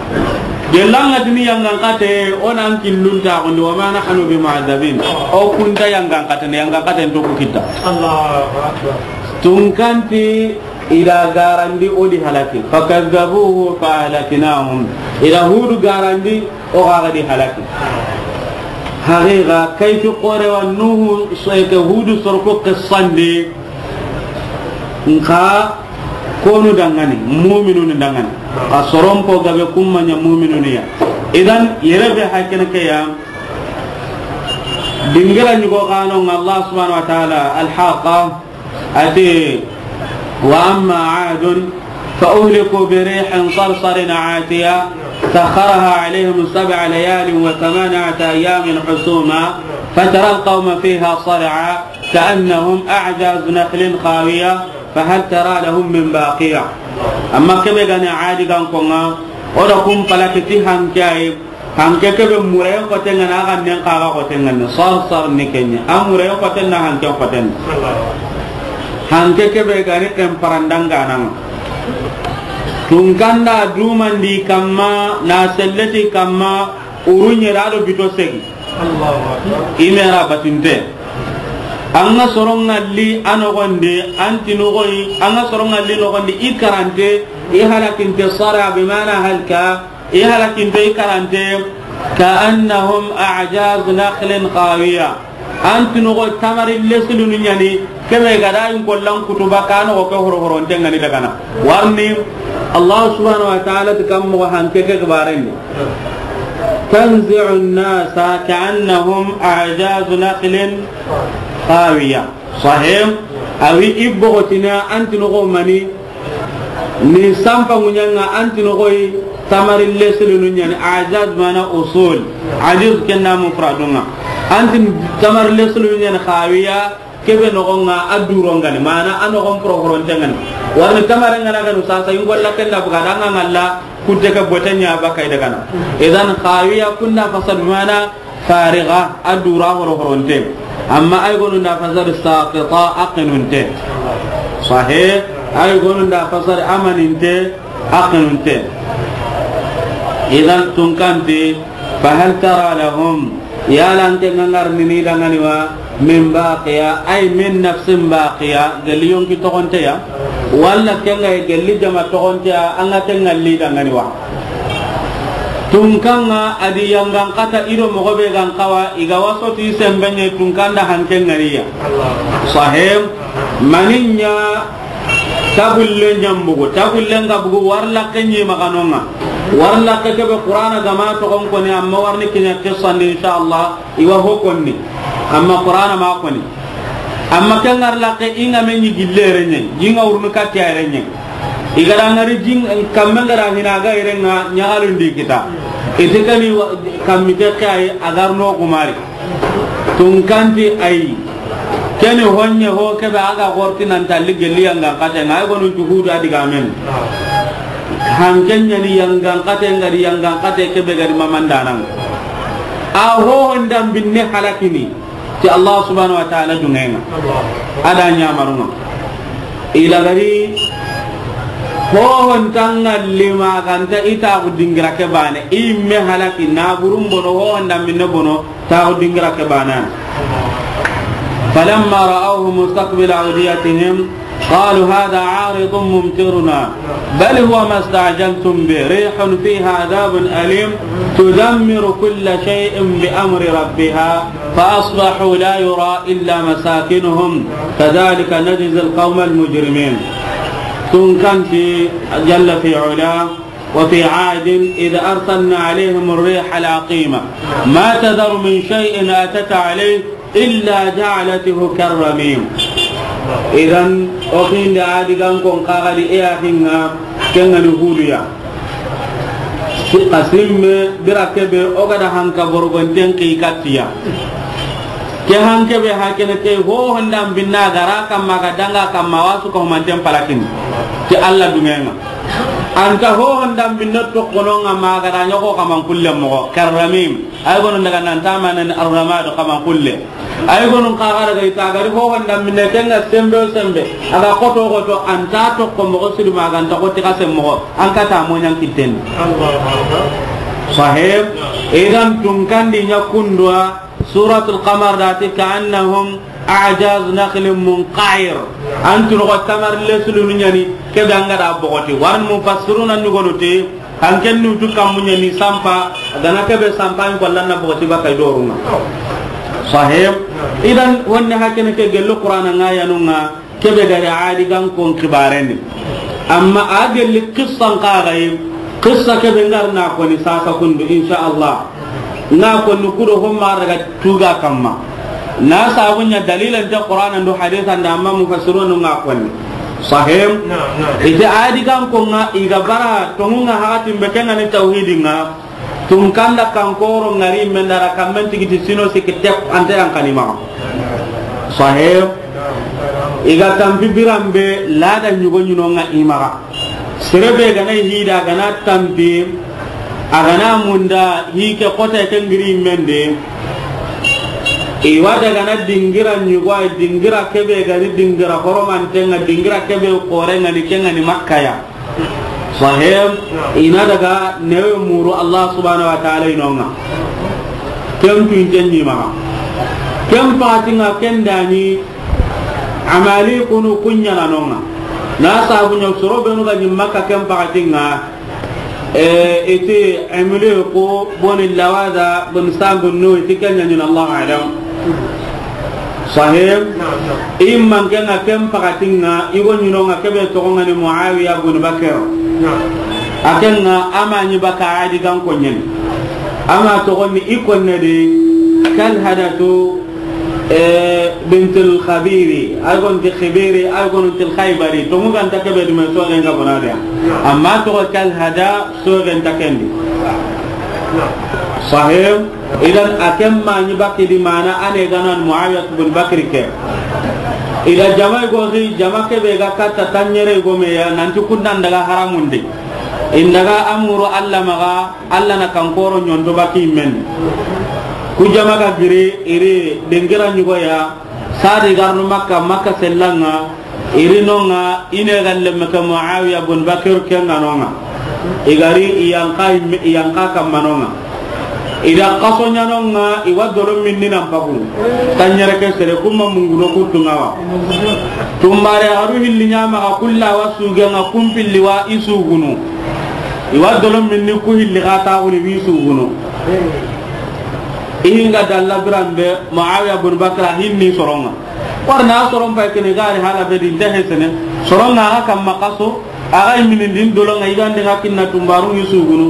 Gelanga dini yangan kate, o nan killun ta gondi, وما نحن بمعذبين. O kunta yangan kate, yangan kate nto ku kita. Allahu Akbar. Tunkanti ida garandi o di halaki. فكذبوه فأهلكناهم. Ida Hudu garandi o gaga di halaki. Haqiqa, kayfi kore wa Nuhu, so eke Hudu sorko qissandi. Nka konu dangani, mu'minunu dangani. A soron po gabe kumma ɲa mu'minunu ya. Idan, yere be hakene ke ya. Dingira ɲugo kano ŋa Allah subhanahu wa ta'ala, Al-Haqqa, ati, وأما عاد فأهلكوا بريح صرصر عاتية سخرها عليهم سبع ليال وثمانية أيام حسوما فترى القوم فيها صرعى كأنهم أعجاز نخل خاوية فهل ترى لهم من باقية. Amma kebe gani Adi gan konŋa, o da kun palaki ti hanke ay, hanke kebe murayen koten ŋa na, a gannen xa ga koten ŋa ni, Sarsar ni kenya. A murayen koten na hanke koten. Hanke kebe gani ken parandanga nan. Tunkanda dumandi kamma, na selleti kamma, urunye da do bito segi. Allahu Akbar. I me ra batinte. An ga soron ŋalli a noxondi, an ti noxoyi, an ga soron ŋalli noxondi, i karante, i halakinte, sara bi mana halka, i halakinte, i karante, كأنهم أعجاز نخل خاوية. An ti noxo tamari lesilunu ɲani, kebe ga da in kollan kutuba ka noxo ke horo horonte ŋa ni dagana. Warni, Allah subhanahu wa ta'ala ti kam moxo hanke ke gbarendi. تنزع الناس كأنهم أعجاز نخل خاوية. Sahih. Awi i bogotina an ti noxo mani, ni sampa ŋuɲanga an ti noxoyi tamari lesilunu ɲani, ajaz mana usul. Ajiz kenna mufradunga. An ti tamari lesilunu ɲani khawiya, kebe noxonga a durongani, mana a noxon prohoronte ŋani. Warni tamare ŋana ganu sasa, ingolla kenda buga danga ŋalla, kutte ke bote ɲa baka i dagana. Idan khawiya kunda fasad mana fariga, a dura horo horonte. Amma ay gonu nda fasar saqita, a qinunte. Sahih, ay gonu nda fasar amaninte, a qinunte. Idan tunkanti, fahal tara lahum, yala nke ŋa ŋarni ni dangani wa, min baqiya, ay min nafsin baqiya, gelli yonki toxonte ya, walla kenga gelli jama toxonte ya, anga kenga li dangani wa. Tunkanŋa a di yangan kata i do moxo be gan xawa, i ga waso ti sembe ɲa tunkan da hanke ŋari ya. Sahem, mani ɲa tagulle ɲa bugu, tagulle nga bugu wari laxe ɲi maxa no ŋa. Wari laxe ke be Qur'ana ga ma toxon koni, amma wari ni kiɲa qissa ndi, inshallah, i wa ho konni. Amma Qur'ana ma koni. Amma ken ŋari laxe i ŋa me ɲi gille yere ɲa, i ŋa wurunu katti yere ɲa. I ga da ŋari jin kamme nga da hina ga yere ŋa ɲaxalu ndi kita. I ti kani wa-, kammi ke ke ay a gar no kumari. Tunkan ti ay. Keni honye ho ke be a ga xorti nan talli gelli yangan kate ŋa, ay gonu juhudu a di ga men. Hanken ɲa ni yangan kate nga di yangan kate ke be ga di mamandanan. A ho hondan binne halakini. Ti Allah subhanahu wa ta'ala duŋe ŋa. A da ɲamarun ŋa. I la gari hohon tanga lima ganta i taxu dingira ke bane. I me halaki na burun bono hohon da minne bono taxu dingira ke bane. فلما رأوه مستقبل أوديتهم قالوا هذا عارض ممطرنا بل هو ما استعجلتم به ريح فيها عذاب أليم تدمر كل شيء بأمر ربها فأصبحوا لا يرى إلا مساكنهم كذلك نجزي القوم المجرمين. Tunkan ti جل في علاه وفي عاد إذ أرسلنا عليهم الريح العقيم ما تذر من شيء أتت عليه إلا جعلته كالرميم. Idan, o xinde a di gan kon xaxadi e ya xinŋa, ken ŋa ni Hudu ya. Xa simme bira ke be o ga da hanka borogonten xi katti ya. Ke hanke be hakene ke hohon da binna gara kamma ga danga kamma wasu ko manten palakin. Ti Allah duŋe ŋa. Anta hohon da binna toxono ŋa ma ga da ɲoxo kaman kulle moxo. Karramim. Ay gonu daga nan ta manen arramadu kaman kulle. Ay gonu xaxa daga i ta gari hohon da minne ken ŋa sembe o sembe. A ga xoto xoto anta toxo moxo sidu ma ga nta xoti xa sem moxo. An kata moɲan kitten. Sahib. Idan tunkan di ɲa kundwa. Suratul Qamar da ti كأنهم أعجاز نخل منقعر. An tunu ko tamar lesulu ɲa ni ke be an ga da bogoti. Waran mufassiruna ni gonu ti Hanken nutu kammu ɲa ni sampa, a ga na ke be sampa in kollan na bogoti bakay dorunga. Sahib. Idan wonne hakene ke gello Qur'ana ŋa yanu ŋa, ke be gari adi gan kon xibarendi. Amma a gelli qissan ka gayi, qissa ke be ngar na koni sasa kundu, insha Allah. Na koni kudo homma daga tuga kamma. Na sabu ɲa dalilan ta Qur'ana ndo hadithan da amma mufassirun ŋa koni. Sahim. Naam, naam. Ite adi gan ko ŋa i ga bara tongu ŋa hakatin be ken ŋa ni tawhidi ŋa. Tun kanda kan koro ŋari men dara kan men tigiti sino siki tep ante yan kani ma. Sahim. I ga tampi biran be lada ɲugo ɲuno ŋa i maxa. Sere be ga na hida ga na tampi, a ga na munda hi ke kota ke ngiri mende. I wa daga na dingira ɲugo, ay dingira ke be ga ni dingira horomanten ŋa, dingira ke be kore ŋa ni ke ŋa ni Makka ya. Sahib, i na daga newe muru Allah subhanahu wa ta'ala i no ŋa. Ken tun ken ɲi maxa. Ken pati ŋa ken da ni Amali kunu ku ɲa na no ŋa. Na sabu ɲa soro benu ga ɲi Makka ken pakatin ŋa. E, iti Amali ku boni Lawada bun Sambun nu iti ken ɲa ɲi na Allahu a'lam. Sahib. Naam, naam. I man ken ŋa ken pakatin ŋa, i go ɲi no ŋa ke be toxo ŋa ni Muawiya bun Bakr. Naam. A ken ŋa a ma ɲi baka adi gan ko ɲeni. A ma toxo ni i konne di Kalhadatu. E, bintul Khabiri, ay gon ti Khibiri, ay gon ti Khaybari, to mu ganta ke be dume so gen ga bonade. Amma to Kalhada so gen ta kendi. Sahib, idan a ken ma ni bakki di mana ane ganan Muawiyah bin Bakri ke. Ida jama go ri, jama ke be ga katta tanyere go me ya, nanti kundan daga haramundi. Indaga amuru Allah maga, Allah na kankoro ɲonto baki men. Ku jama ga giri, iri dengira ɲugo ya, sadi garnu Makka, Makka sellanga, iri nonga, ine galle meke Muawiya bun Bakir kenga nonga. Igari iyanka, iyanka kamma nonga. Ida kaso ɲanonga, iwa dolo minni nan pagu. Tanyere ke sere kuma munguno kutungawa. Tumbare aru hilli ɲama ga kulla wa sugenga kumpilli wa isugunu. I wa dolo minni ku hilli xa taxuni wi sugunu. I hinga dalla biran be Muawiya bun Bakra hinni soronga. Warna soron pay kene gari hala be din ta hesene. Soronga aga kamma kaso, aga imini din dolonga igande ga kinna tumbaru ni sugunu.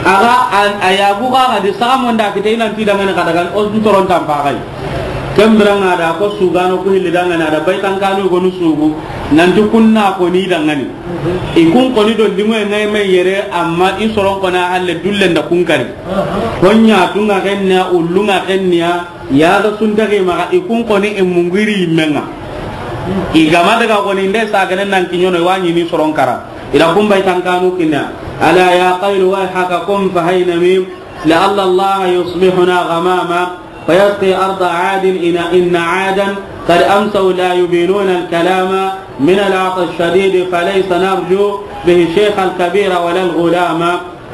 Aga a yagu ga di saga monda kite inan ti dangane kadagan o soron tampa gai. Kembiranga da ko sugano ku hilli dangane ada baitan kanu gonu sugu. Nanti kunna ko ni dangane. I kun koni do limo e ngai me yere, amma i soron kona halle dullen da kun kari. Konya tunga kennya, ullunga kennya, ya ga sunta ke maga i kun koni e mungiri menga. I gama daga koni nde sa ganen nan kinyono wa ni ni soron kara. Ila kun bai tankanu kinna. Ala ya qaylu wa haka kum fa hayna mim. لعل الله يصبحنا غماما فيسقي أرض عاد إن، إن عادا قد أمسوا لا يبينون الكلام من العطش الشديد فليس نرجو به الشيخ الكبير ولا الغلام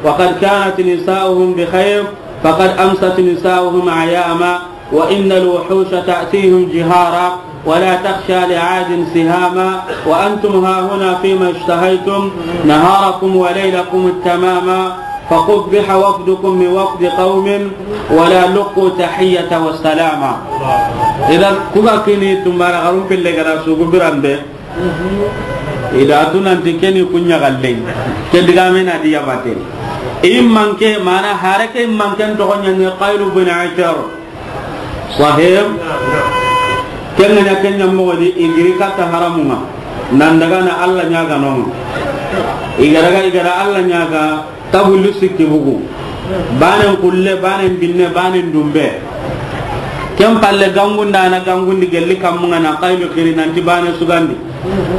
وقد كانت نساؤهم بخير فقد أمست نساؤهم عياما وإن الوحوش تأتيهم جهارا ولا تخشى لعاد سهاما، وأنتم هاهنا فيما اشتهيتم نهاركم وليلكم التماما، فقبح وفدكم من وفد قوم، ولا لقوا تحية والسلاما. Idan, ku ga kini tumbara xarun pille gara sugu biran be. Ida tunanti keni kunya galle. Ke diga mena diya bate. Immanke mana harake immanken to gonye ne Qaylu bin Ashar. Sahib. Kenganya kenya mogodi igiri kata haramunga. Nan daga na Allah nyaga nonga. Igaraga igara Allah nyaga tabulu sikki bugu. Banen kulle, banen binne, banen dumbe. Ken palle gangunda na gangundi gelli kammunga na Qaylu kiri nanti bane sugandi.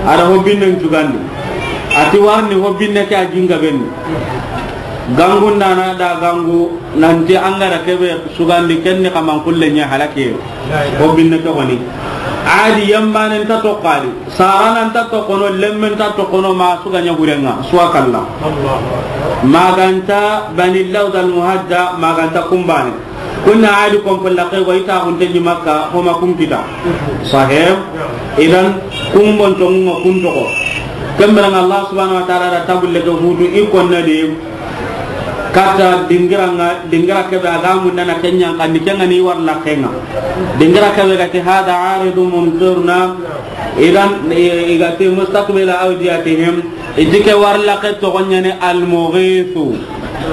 Ada hobbinnen cugandi. Ati warni hobbinne ke a jinga benni. Gangunda na da gangu nanti angara kebe sugandi kenni kaman kulle nya halake. Hobbinne ke koni. Adi yambanen ta tokkali. Saranan ta tokkono, lemmen ta tokkono, ma suga nya gurenga, suwa kalla. Maganta Bani Lawd al Muhajja, maganta kumbane. Kunna adi kompo laqe go ita hunte ni Makka, homa kun kita. Sahib. Idan kumbon tongunga kun togo. Kemberanga Allah subhanahu wa ta'ala da tabulle ke hudu ikonna de. Kata dingiranga, dingira kebe aga mundana kenya kandi kenga ni war lakenga. Dingira kebe gati hada aridu mumtirna. Idan i-, igati mustaqbila awdiyatihim. Iti ke war lake togonya ni al-Mughithu.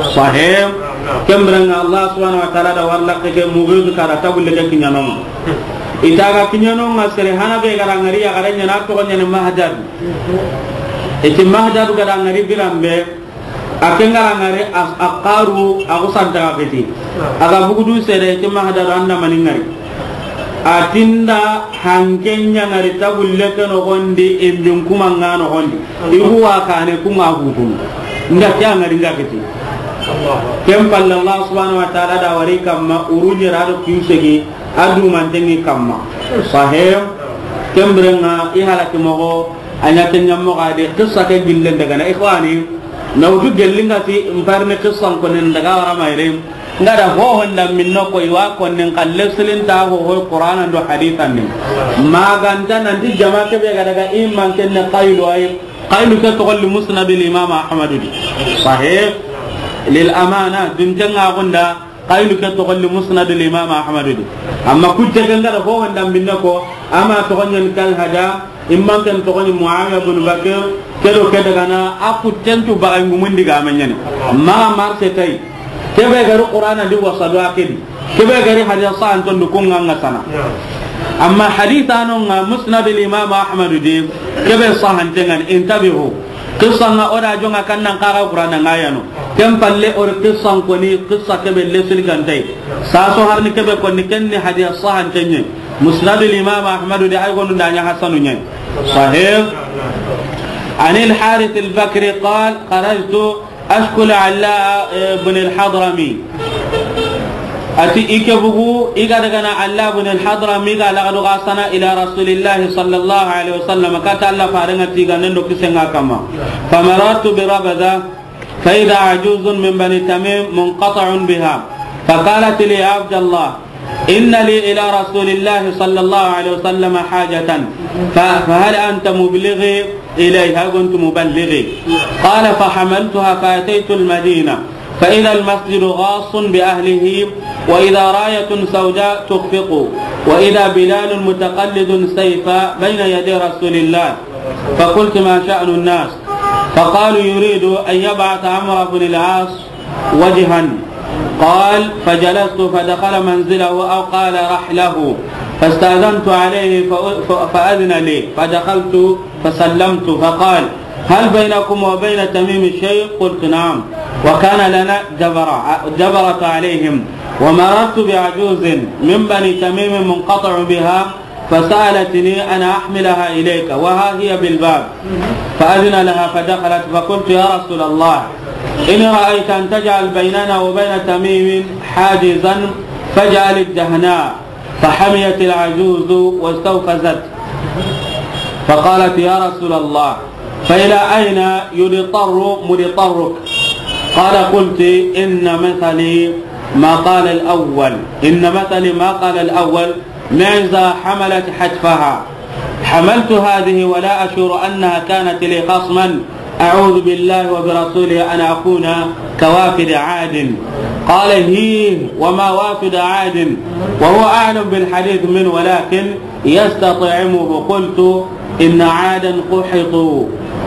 Sahib. Kembranga Allah subhanahu wa ta'ala da war lake ke Mughithu kara tabulle ke kinyanonga. Itaga kinyanonga sere hana be gara ngari ya gara nyana togonya ni Mahdad. Iti Mahdad gara ngari birambe. A ke ngara ngari a, a karu a ku santa ga feti. A ga bugudu sere ke Mahdad anda mani ngari. A tinda hanken nya ngari tabulle ke no gondi imbin kuma nga no gondi. Igu wa kane ku nga hukun. Nda ke ngari nga feti. Ken palle Allah subhanahu wa ta'ala da wari kamma urunye rado kinsegi adu mantengi kamma. Sahib. Kembrenga i halaki mogo. A ɲa ke ɲammo xa de, qissa ke gillen daga na, ikhwani, na wutu gelli nga ti, mparni qissan konen daga wara mayre, nga da hohon da minno ko i wa konen kalle silin ta hoho Qur'anan do hadisan ni. Maganta nanti jama ke be ga daga iman ken ne Qaylu ay, Qaylu ke to golli Musnadul Imam Ahmadu di. Sahih lil amana, dun janga gunda, Qaylu ke toxo li Musnadul Imam Ahmadu di. Amma kujje ke nga da fo wanda minna ko, ama toxo ɲen kal hada, imman ken toxo ni Muawiya bin Bakr, ke do ke daga na, a kuttentu baga ngumundi ga ma ɲani. Maga marse tay. Ke be gari Qur'ana di wasadu a ke di. Ke be gari hadisa anton du kunga nga sana. Amma hadisa no nga Musnadul Imam Ahmadu di, ke be sahantengan, intabihu. Qissa nga o da jonga kan nan kaga Qur'ana nga yano. Ken palle o ri qissa koni, qissa kebe lesili gantay. Saso harni kebe koni ken ni hadiya sahantenye. Musnadul Imam Ahmadu de ay gonu da ɲa hasanu nye. Sahih. Anil Harith al-Bakri qal, kharajtu ashku Alla ibn al-Hadrami. Ati i ke bugu, i ga daga na Alla ibn al-Hadrami ga laga do ga sana ila Rasulillahi sallallahu alaihi wasallam, kata Alla farenga tiga nendo kisenga kama. Famarartu bi Rabada, fa idha ajuzun min Bani Tamim munqata'un biha. Faqalat li, ya Abdallah, إن لي إلى رسول الله صلى الله عليه وسلم حاجة، ف-، فهل أنت مبلغي إليه؟ هل كنت مبلغي؟ قال: فحملتها فأتيت المدينة، فإذا المسجد غاص بأهله، وإذا راية سوداء تخفق، وإذا بلال متقلد سيفا بين يدي رسول الله. فقلت: ما شأن الناس؟ فقالوا: يريد أن يبعث عمرو بن العاص وجها. قال: فجلست فدخل منزله أو قال رحله، فاستأذنت عليه ف-، ف-، فأذن لي، فدخلت فسلمت، فقال: هل بينكم وبين تميم شيء؟ قلت: نعم، وكان لنا جبرة، جبرة عليهم، ومررت بعجوز من بني تميم منقطع بها، فسألتني أن أحملها إليك وها هي بالباب، فأذن لها فدخلت، فقلت: يا رسول الله، إن رأيت أن تجعل بيننا وبين تميم حاجزا فاجعل الدهناء. فحميت العجوز واستوفزت، فقالت: يا رسول الله، فإلى أين يضطر مضطرك؟ قال: قلت: إن مثلي ما قال الأول، إن مثلي ما قال الأول، معزة حملت حتفها، حملت هذه ولا أشعر أنها كانت لي خصما، أعوذ بالله وبرسوله أن أكون كوافد عاد. قال: هيه وما وافد عاد، وهو أعلم بالحديث منه، ولكن يستطعمه. قلت: إن عادا قحطوا،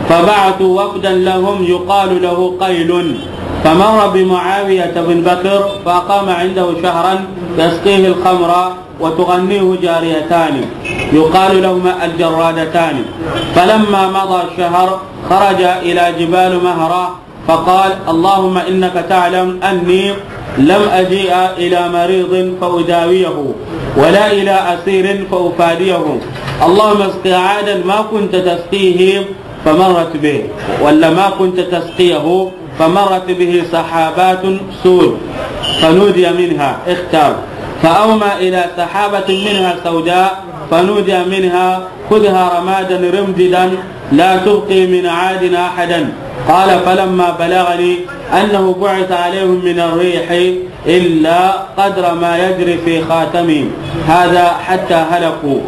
فبعثوا وفدا لهم يقال له قيل، فمر بمعاوية بن بكر فأقام عنده شهرا يسقيه الخمر وتغنيه جاريتان يقال لهما الجرادتان، فلما مضى الشهر خرج إلى جبال مهرة فقال: اللهم إنك تعلم أني لم أجيء إلى مريض فأداويه، ولا إلى أسير فأفاديه. اللهم اسق عادا ما كنت تسقيه فمرت به، ولا ما كنت تسقيه فمرت به سحابات سود، فنودي منها، اختار، فأومى إلى سحابة منها سوداء، فنودي منها: خذها رمادا رمددا، لا تبقي من عاد أحدا. قال: فلما بلغني أنه بعث عليهم من الريح إلا قدر ما يجري في خاتمهم هذا حتى هلكوا.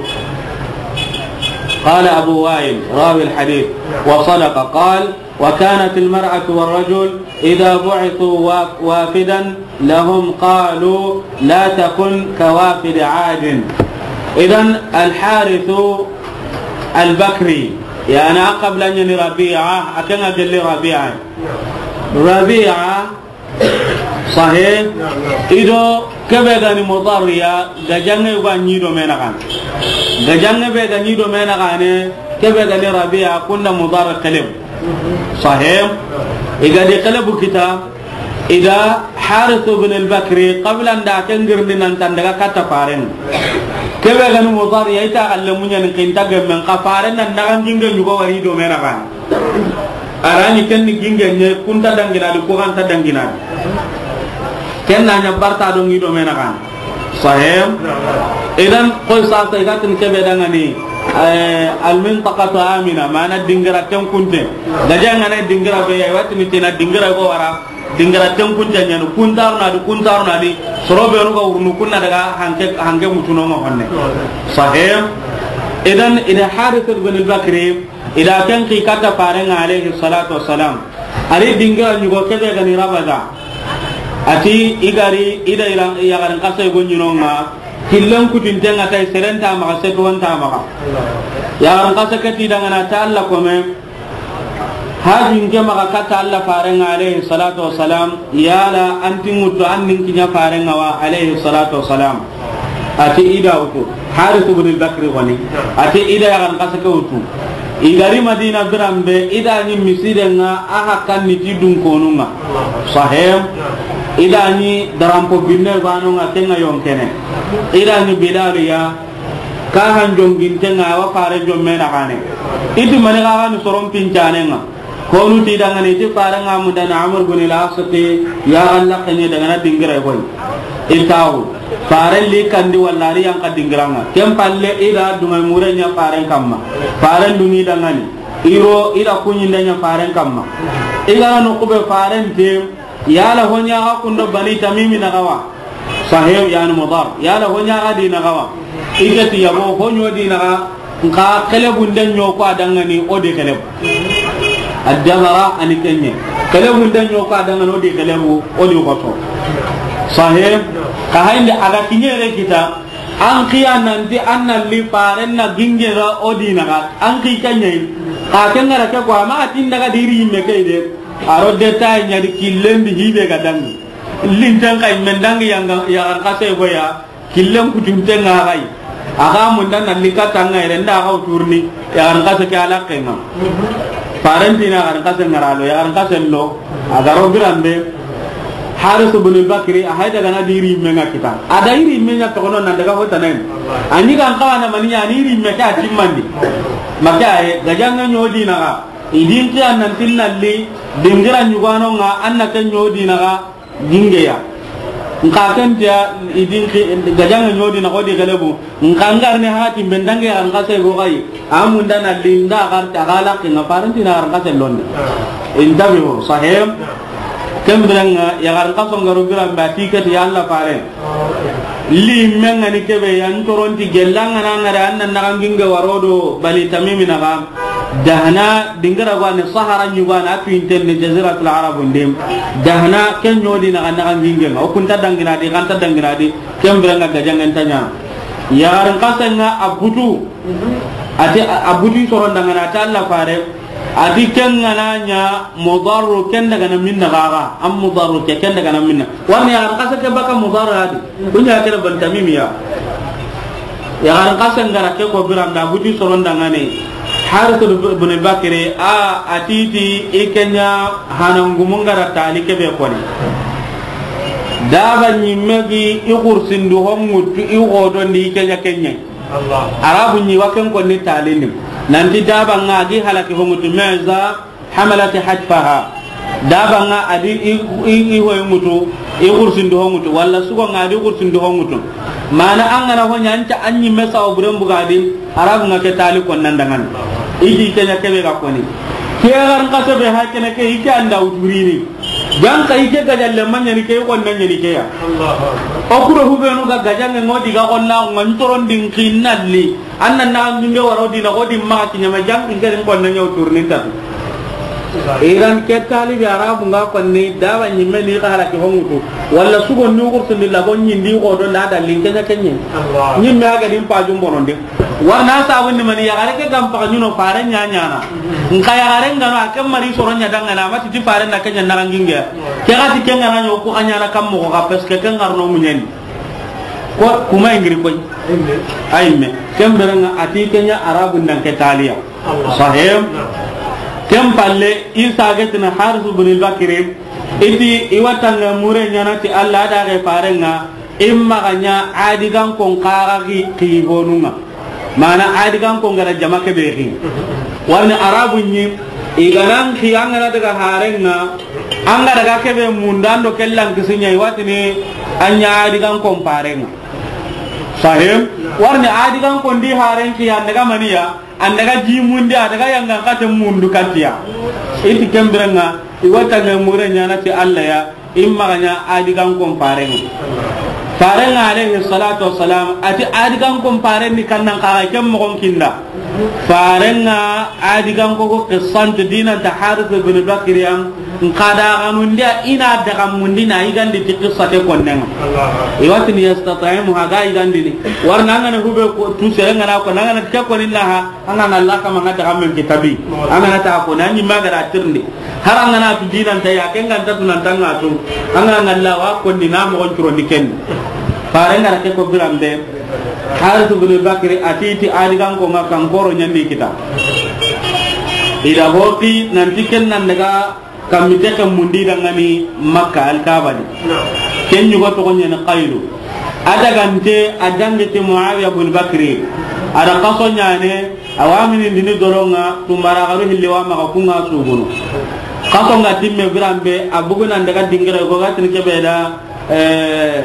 قال أبو وائل راوي الحديث: وصدق. قال: وكانت المرأة والرجل إذا بعثوا وا-، وافدا لهم قالوا: لا تكن كوافد عاد. إذن الحارث البكري، يعني، قبل أن يني ربيعة، أكن أجل ربيعة. ربيعة، صحيح؟ إذا كبدني مضريا، gajaŋe ga ɲi do me naxaane. Gajaŋe be ga ɲi do me naxaane, ke be ga ni Rabi'a, kunda Mudar xelebu. Sahih? I ga di xelebu kita, i da Harith ibn al-Bakri, qabla nda ke ngirndi nan ta daga katta faaren. Ke be ga ni Mudar ya, i ta xalle muɲa ni kinta gemmen xa faaren nan daga ginge ɲugo wari do me naxaane. A ra ni ken ni ginge ɲe, ku nta dangina di, ku xa nta dangina di. Ken na ɲa barta do ŋi do me naxaane. Sahih? Idan, koy sasa i ga tini ke be dangani, eh, al-mintaqatu amina, mana dingira tenkunte. Gajaŋa na dingira be ya, i wa tini tina dingira go wara, dingira tenkunte ɲa ni, ku nta ro na di, ku nta ro na di, soro be no ga wurunu ku na daga hanke, hanke mutuno ma honne. Sahih? Idan, i da Harith ibn al-Bakri, i da ken xi katta faaren ŋa, alayhi salatu wassalam. A ri dingira ɲugo ke be ga ni Rabaza. A ti i ga ri, i da ira, yaxarin xase go ɲi no ŋa, killen kutinten ŋa tay, seren nta maxa, setuwan nta maxa. Yaxarin xase ke ti dangana ta Alla kome, hajin ke maxa katta Alla faaren ŋa, alayhi salatu wassalam. Yala an ti ŋuttu, an nin kiɲa faaren ŋa wa, alayhi salatu wassalam? A ti i da wutu. Harith ibn al-Bakri woni. A ti i da yaxarin xase ke wutu. I ga ri Madina biran be, i da ɲi misiiden ŋa, a hakkan ni ti dun konu ŋa. Sahih? I da ɲi daranpo binne banu ŋa, ken ŋa yonkene. I da ɲi Bilal ya, ka han jonginten ŋa, a wa faaren jomme naxaane. I ti mani xa ga ni soron pincanen ŋa. Konu ti dangani ti faaren ŋa mundani Amr bin al-As ti, ya Allah, xenye dangana dingira koy. I tawo. Faaren li kandi walla a ri yanqa dingira ŋa. Ken palle i da dunŋa mure ɲa faaren kamma. Faaren dunŋi dangani. I ro i da kuɲinde ɲa faaren kamma. I ga na noqu be faaren te, yala ho ɲa ga kundo Bani Tamimi naxa wa. Sahib, yani Mudar. Yala ho ɲa ga dina gawa. I ke ti yabo ho ɲo dina ga. Nka kelebu nde ɲo ko a dangani o di kelebu. Addabara ani kenye. Kelebu nde ɲo ko a dangani o di kelebu, o di xoto. Sahib, ka hayndi a ga kiɲere kita. An kiya nanti an na li faren na ginge ga o dina ga. An ki kenye. Ka kengara ke ko ama atin daga diri yimme ke de. A ro de tay ɲa di killen di hibe ga dangi. Linten kay men dangi yanga, yaxarin xase go ya, killen kutunten ŋa gay. A ga munda na li katanga ire nda ga uturni, yaxarin xase ke a laqqen ŋa. Faren ti na yaxarin xase ŋa ra lo, yaxarin xase lo, a ga ro biran be. Haris ibn al-Bakri, a hay daga na diri yimme ŋa kita. A da yiri yimme ɲa toxo no nan daga ho tanen. A ɲi gan xawa na mani ɲa ni yiri yimme ke a timmandi. Maka ay, gajanŋe ɲo dina ga. I din kiya nanti na li, dingira ɲugano ŋa, an na ke ɲo dina ga, ginge ya. Nka ken tiya, i din ki, gajanŋe ɲo dina ga o di kelebu. Nka ngar ne hati, ben dangi yaxarin xase go gay. A munda na li nda gar ta ga laqqen ŋa faren ti na yaxarin xase londe. Intabi ho, sahib. Ken biren ŋa, yaxarin xaso ŋa ro biran be a ti ke ti ya Alla fare. Li men ŋa ni kebe ya n toron ti gella ŋa na ŋa da an na naxan ginge waro do Bani Tamimi na ga. Dahna dingira go ne Sahara ɲugana a tu intenne Jaziratul Arab nde. Dahna ken ɲo dina ga naxan ginge ŋa. O kunta dangina di, kanta dangina di. Ken biren ŋa gajanŋen ta ɲa. Yaxarin xase ŋa a butu. A ti a, a butu soron dangana ta Alla fare. A ti ken ŋa na ɲa Mudarru ken daga na minna gaga. An Mudarru ke ken daga na minna. Wani yaxarin xase ke baka Mudarru a di. Kuɲa kere Bani Tamimi ya. Yaxarin xase ŋa ra ke ko biran da butu soron dangane. Haris ibn Bakri a, a ti ti i ke ɲa hanangumun ŋa ra tali kebe koni. Daba ɲimme gi i xursindu ho ŋutu i xodondi i ke ɲa kenye. Arabu ɲi wa ken konni talini. Nanti daba ŋa gi halaki ho ŋutu meza hamalati hatfaha. Daba ŋa a di i, i, i ho ŋutu, i xursindu ho ŋutu, walla sugo ŋa a di xursindu ho ŋutu. Mana an ga na ho ɲa an ca an ɲimme sawa buren buga di, Arabu ŋa ke tali konnan dangan. I di ke ɲa kebe ga koni. Ke yaxarin xase be ha kene ke i ke an da uturini. Jan ka i ke gajalle ma ɲani ke, i xonna ɲani ke ya. O kuro hubenu ga gajanŋe ŋo di ga xonna ŋa n toron din kinalli. An na na minge waro dina xo di ma ki ɲama jan in ke rin xonna ɲa uturni ta. Iran ke talibi Arabu ŋa konni daba ɲimme ni ga halaki ho ŋutu. Walla sugo ni xursundi la go ɲindi xodo na da linke ɲa kenye. Ɲimme a ga din pajum bonondi. Warna sabu ni mani yaxare ke gam paga ɲuno fare ɲa ɲana. Nka yaxare ŋa no a ke mari soro ɲa dangana ma ti ti fare na ke ɲa na ginge. Ke ga ti ke ŋa na ɲo ko a ɲana kam mo ga parce que ke ŋa ro no muɲeni. Ko kuma ingiri koy. Ayimme. Ken biren ŋa a ti ke ɲa Arabu nan ke taliya. Sahib. Ken palle Isa getina Haris ibn al-Bakri. I ti i wa tanga mure ɲana ti Alla da ga fare ŋa. I ma ga ɲa a di gan kon kaga ki, ki honu ŋa. Mana a di gan kon ga ra jama kebe ki. Warni Arabu ɲi, i ga nan ki an ga na daga hare ŋa, an ga daga kebe munda ndo kellan kisiɲa i wa tini an ɲa a di gan kon fare ŋa. Sahib, warni a di gan kon di hare ki an daga maniya, an daga ji mundi, a daga yangan kate mundu katiya. I ti ken biren ŋa, i wa tanga mure ɲana ti Alla ya, I ma ga ɲa a di gan kon fare ŋa. Fare ŋa alayhi salatu wassalam, a ti a di gan kon fare ni kannan kaga ken mogon kinda. Fare ŋa a di gan ko ko qissan to dinan ta Haris ibn Bakri ya, n ka da ganun dia i na daga mundi na i gandi ti qissa ke konnen ŋa. I wa tini yastat'imu ha ga i gandi ni. Warna ŋa na hube ko tu sere ŋa na ko na ŋa na ke ko ni na ha. An ga na la kama ŋa daga men kitabi. An ga na ta ko na ni ma ga ra tirndi. Har an ga na tu dinan ta ya, ken ga nta tu nan tanga tu. An ga na la wa ko ni na mo on turo ni ken. Fare ŋa ra ke ko biran be. Haris ibn Bakri a ti ti a di gan ko ŋa kan koro ɲandi kita. I da hoti nan ti ken nan daga Kammi texe mundi dangani Makka Alkaaba di. Ken ɲugo toxo ɲeni Qaylu. A dagante a dangi ti Muawiya bun Bakri. A da xaso ɲaane, a wa minindini doron ŋa, tumbara xaru hilli wa maxa kun ŋa sugunu. Xaso ŋa timme biran be, a bugu nan daga dingira go ga tini kebe da, eh,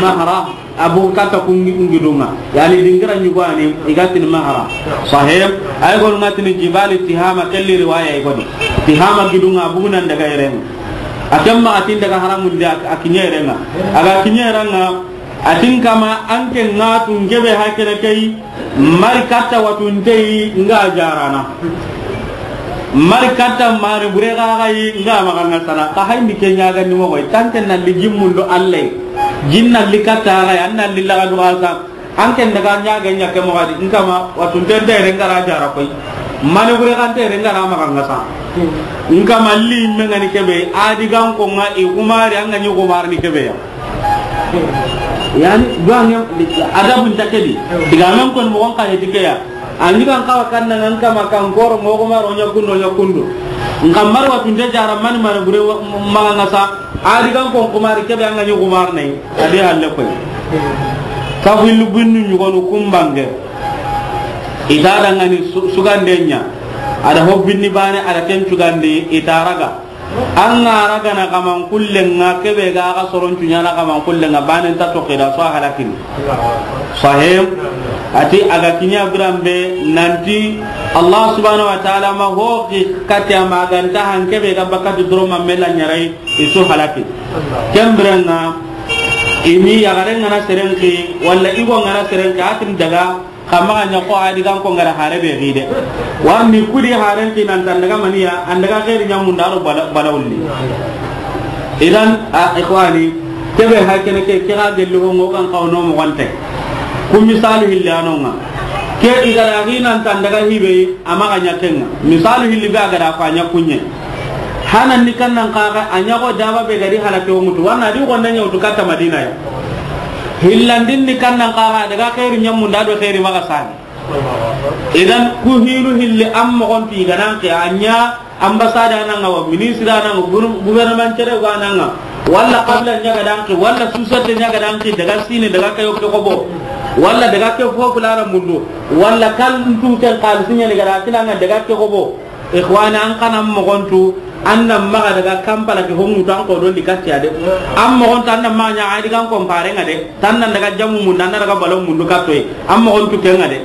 Mahra. Abu kata kungi, kungi dunga. Yani dingira ɲugani, i ga tini Mahra. Sahib, ay gonu ŋa tini Jibali Tihama, kelli riwaya i goni. Tihama gidunga, bugunan daga iren. A ken maxa ti n daga haramundi a kiɲerenŋa. A ga kiɲerenŋa, a ti n kama an ke ŋa tu n kebe hakene ke yi, mari katta watunte yi n ga jarana. Mari katta mari bure xaxa yi n ga maxa ŋa sana. Xa hayindi ke ɲagandi moxo yi, tanke na li jimmundo Alla yi. Jin na li katta xa yi, an na li laga duxa sa. An ken daga ɲaage ɲa ke moxo di, n kama watunte nte yere n ga ra jara koy. Mani bure xante yere n ga ra maxa ŋa sa. N kama li me ŋa ni kebe, a di gan ko ŋa i xumari, an ga ɲi xumari ni kebe ya. Yani, duwange, adabu nta ke di. Digamen kon moxon xa heti ke ya. A ɲi gan xawa kanna ŋa n kama kan koro moxo maro ɲa kundo ɲa kundo. N xa mari watunte jara mani mani bure wa-, maxa ŋa sa. A di gan kon xumari kebe an ga ɲi xumari ne. A di halle koy. Kafu illu binnu ɲugonu kumbange. I ta dangani su-, sugande ɲa. A da ho binni bane, a da ken cugandi, i ta raga. An ga raga na kaman kullenŋa, kebe ga ga soron cuɲana kaman kullenŋa, bane nta toxi da, so a halakini. Sahim. A ti a ga kiɲa biranbe, nanti Allah subhanahu wa ta'ala ma ho ki kati a ma ganta han kebe ga bakati doro ma mela ɲarai. I su halaki. Ken birenŋa, i ni yaxaren ŋa na seren xi, walla i go ŋa na seren xi, a tin daga, xa maxa ɲa ko a di gan ko n ga ra hare be xi de. Warni kudi haren xi nan tan daga maniya, an daga xeeri ɲamunda ro bala, bala wulli. Idan, a, ikhwani, kebe hakene ke, ke ga gelli ho ŋo kan xawno moxonte. Ku misalu hilli a no ŋa. Ke i ga ra xi nan tan daga hibe, a maxa ɲa ken ŋa. Misalu hilli be a ga da ko a ɲa kuɲe. Hanan ni kannan xaxa, a ɲaxo daba be gadi halake wo mutu. Wanna di gonda ɲawtu katta Madina ya. Hillandin ni kannan xaxa, daga xeeri ɲamunda do xeeri maxa sani. Idan, ku hilu hilli an moxon ti ganan ke, a ɲa ambassade a nan ŋa wa, ministre a nan ŋa, gour-, gouvernement cere go a nan ŋa, walla qabila ɲa ga dan ke, walla société ɲa ga dan ke, daga sini, daga ke yokke xobo, walla daga ke fo fulana mundu, walla kal ntu ken xalisi ɲa ni ga da kinanga daga ke xobo. Ikhwani, an kana moxontu, an na maxa daga Kampala ke ho ŋutu an ko do ndi katiya de. An moxontu an na maxa ɲa a di gan ko n pare ŋa de. Tan nan daga jamu mundu, an na daga balo mundu katoy. An moxontu ke ŋa de.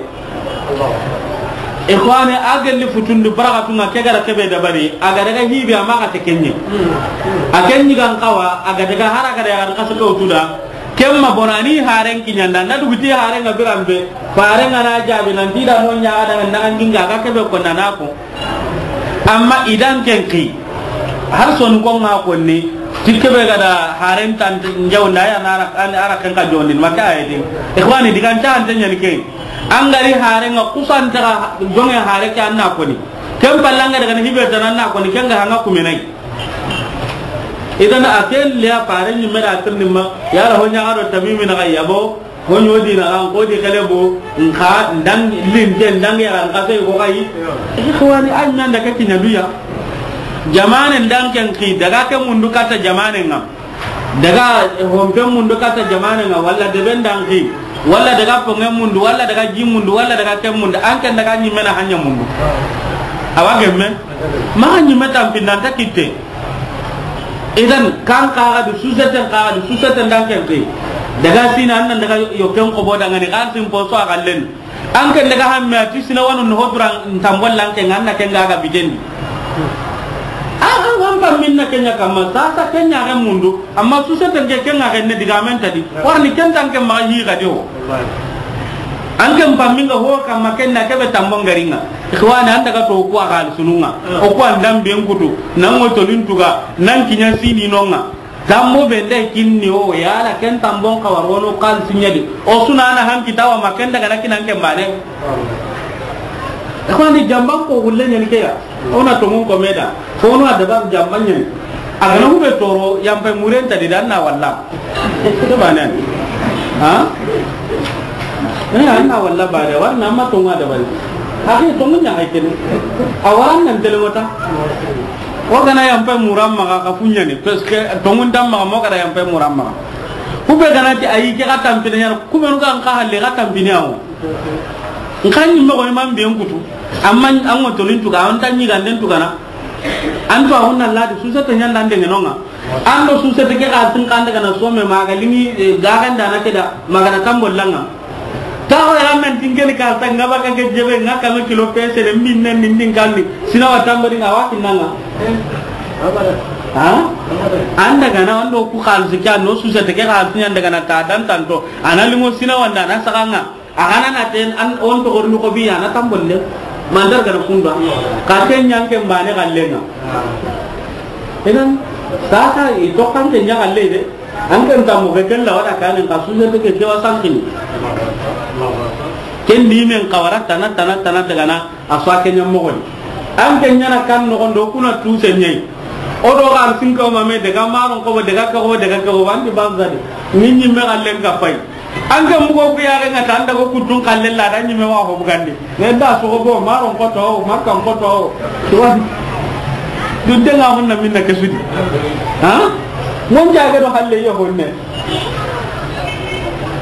Ikhwani, a gelli futundi barakatu ŋa ke ga ra kebe dabari. A ga daga hibi a maxa te kenye. A kenyi gan xawa, a ga daga hara ga daga xasa ko tuda. Kemma bonani haren kiɲanda, na duguti haren ŋa biranbe. Faren ŋa na jabi nan ti da no ɲa ga daga nan ginga ga kebe ko na na ko. Amma idan ken xi, har sonu ko ŋa konni, ti kebe ga da haren tan njaw nda ya na ara, an ara ken ka jondin, ma ka ayedin. Ikhwani, digan ta an tan ɲani ken. An ga ri haren ŋa kusan ta ga jonge hare ke an na koni. Ken pallanga daga ni hibe tan an na koni, ken ga hanga kumenai. Idan a ken le a pare ni me da tirni ma, ya la ho ɲa ga do tamimi na ga yabo. Ho ɲo di na ran ko di kele bo, nka ndang linte ndang ya ran ka sai ko kai. Ikhwani, an nan daga kiɲa duya. Jamane ndan ken xi, daga ke mundu kata jamane ŋa. Daga hompe mundu kata jamane ŋa, walla debe ndan xi, walla daga ponge mundu, walla daga ji mundu, walla daga ke mundu, an ken daga ɲi me na hanya mundu. Awa gemme, ma ɲi me tampi nan ta kitte. Idan, kan kaga du, suzeten kaga du, suzeten dan ken te. Daga sina an nan daga yo ken ko bo dangani, kan sin po so a kallen. An ken daga hamme a ti sina wanu no hoduran tambol lan ken, an na ken ga ga bitendi. A, an, an pammin na kenya kamma, sa, sa kenya ga mundu, amma suzeten ke ken ga ne diga men tadi. Warni ken tan ken ma yi ga do. An ken pammin ga ho kamma ken na kebe tambon garinga. Ikhwani, an daga to ku a xalisunun ŋa. O ku an dan ben kutu, nan ŋo tonin tuga, nan kiɲa sini no ŋa. Tambo be nde kinni o, yala ken tambon xawa ro no xalisi ɲa di. O suna na han kitawa ma ken daga na kinan ken bane. Ikhwani, jamban ko gulle ɲani ke ya. O na tongun ko me da. Fo no a dabar jamban ɲani. A ga na hube toro, yampe muren ta di dan na walla. Ke banen. Ha? Eh, an na walla bare, war na ma tonga da bari. Hake tongu ɲa hay kene. A waran nan tele mota. O ga na yampe muran maxa ka fuɲani, parce que tongun dan maxa mo ga da yampe muran maxa. Ku be ga na ti ayi ke ka tampine ɲa, ku be nu ga an ka halle ka tampine awo. Nkan ni mo ko imam be kutu. Amma an mo tolin tuga, an tan ni ganden tugana. An to a honna ladi, suzete ɲanda nde ngenonga. An do suzete ke ga tin kanda kana some ma ga lini, eh, ga ganda na keda, ma ga na tambo langa. Ta ho ya men tingeni ka ta ngaba ka ke jebe nga ka no kilo pese de min ne min din kandi. Sina wa tambo dinga wa kinanga. Ha? An daga na, an do ku xalisi ke, an do société ke xalisi ɲa daga na ta dan tanto. A na linŋo sina wanda na saxanga. A ga na na ten an on to gorni ko bi a na tambolle. Mandar ga na kunda. Ka ten ɲan ke mbane gallenga. Idan, sasa i to kan ke ɲa galle de. An ke nta mo ke kella wada kanin ka société ke ke wa sankini. Ken di men kawara tana, tana, tana daga na. A so a ke ɲa moxo ni. An ke ɲa na kan noxon do kuna tu se ɲai. O do ga sinko ma me daga maron ko daga ko daga ko bandi banzadi. Ni ɲimme gallen ka fay. An ke mugo ku yare nga tan daga kutun kallen la da ɲimme wa ho bugandi. Ne da so go maron ko to, makkan ko to. Tuwan. Dunte nga honna minna ke sudi. Ha? Mon jage do halle yo honne.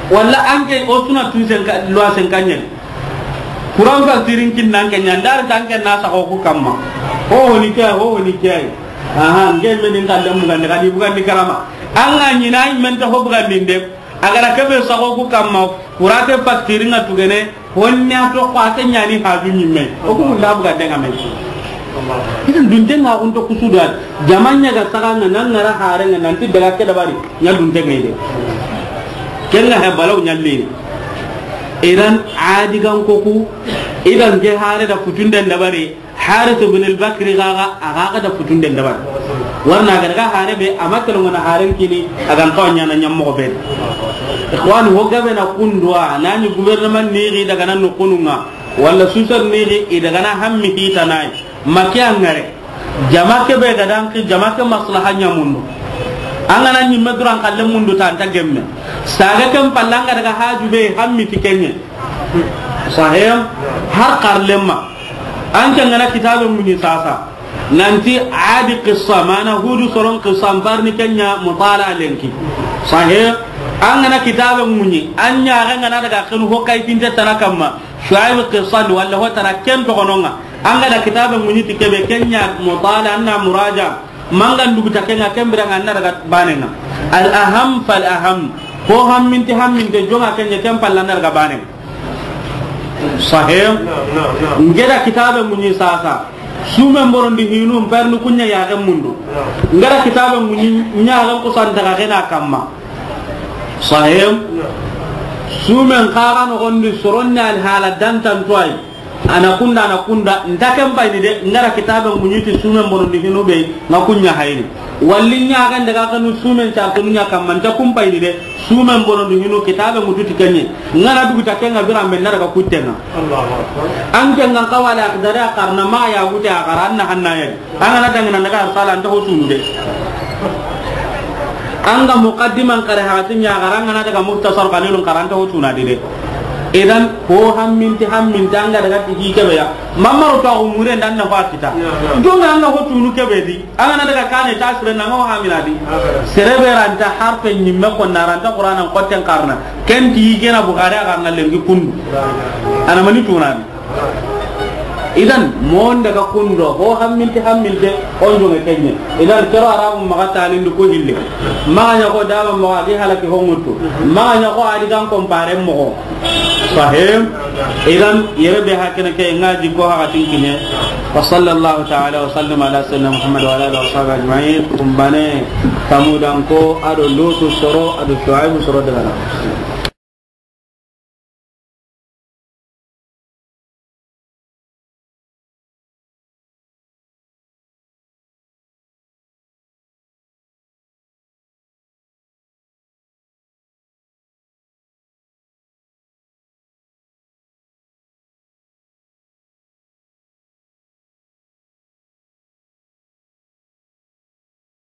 Walla an ke o suna tu sen ka, loi sen ka ɲen. Kuran facturen kinnan ke ɲa ndar tan ke na saxo ku kamma. Ho ho ni ke, ho ho ni ke. Aha, nge me din kallen bugandi, kadi bugandi karama. An ga ɲi na men ta ho bugandi de. A ga ra ke be saxo ku kamma. Kura ke facturen nga tugene. Honne a to ko a ke ɲa ni haju ɲimme. O ku munda bugande nga me. Idan dunte nga kun to kusuda. Jaman ɲa ga saga nga nan ngara hare nga nan ti daga ke dabari. Ɲa dunte nga ide. Ken nga he balaw ɲalli. Idan Adi gan ko ku, idan ke hare da futunden dabari, Haris ibn al-Bakri gaga, a gaga da futunden dabari. Warna ga daga hare be, a ma kelo ngana haren kini, a gan to ɲa na ɲam mo be. Ikhwan, ho gabe na kundwa, nani gouvernement ni ri daga nan kununga, wala susar ni ri, i daga na hammi hitanai. Makiya ngare. Jama ke be ga dan ki jama ke maslaha ɲa mundu. An ga na ɲimme duran kalle mundu ta anta gemme. Saga ken pallanga daga haju be hammi ti kenye. Sahih. Har karlemma. An ke ngana kitabe muni sasa. Nanti Adi qissa mana Hudu soron qissa mbarni kenya mutala lenki. Sahih. An ngana kitabe muni. An ɲa ga ngana daga kenu ho kay finte tana kamma. Shuaib qissa wala ho tana ken to gononga. An ga da kitabe muɲi ti kebe kenya mutala anna muraja. Manga ndugu ta kenga kembira nga anna daga banenga. Al aham fal aham. Ko hamminti hamminte jonga kenya ken palla anna daga banenga. Sahih. Nge da kitabe muɲi sasa. Sumen borondi hinu mpernu kunya ya mundu. Nge da kitabe muɲi nya ga ko san daga kena kamma. Sahih. Sumen xara no gondi soronna al hala dantan tuai. Ana kunda, ana kunda, nta ken payini de, ngara kitabe muɲiti sumen bonondi hinu be, nga kunya hayini. Walli ɲaxen daga kanu sumen cartunu ɲa kamma, nta kun payini de, sumen bonondi hinu kitabe mututi kenye. Ngana dugu ta kenga birambe na daga kuttenga. Allahu Akbar. An kenga kawale akdare a karna ma ya gute a kara anna hanna ya. An gana dangana daga arsala anta hotunu de. An ga muqaddiman kare hakatin ya gara an gana daga muhtasar qalilun kara anta hotuna de de. Idan ko hamminti hamminti an ga daga tigi kebe ya. Mamaro to ko mure dan na fakita. Don an ga hotunu kebe di. An gana daga kane ta sire na ngo hamina di. Sere be ranta harfe nyimme ko na ranta Qur'anan kotten karna. Ken ti gena Bukhari aga na lengi kundu. Ana mani tunani. Idan, mon daga kundo, ho hamminti hamminte, on jonge kenye. Idan, kero Arabu maga talindi ko hille. Maga ɲa ko daba maga gi halaki ho ŋuttu. Maga ɲa ko a di gan kompare mogo. Sahih. Idan, yere be hakene ke nga di ko hakatin kine. Wa sallallahu ta'ala wa sallam ala sayyidina Muhammad wa ala alihi wa sahbihi ajma'in. Kumbane, Samudan ko, ado Lutu soro, ado Shuaibu soro daga na.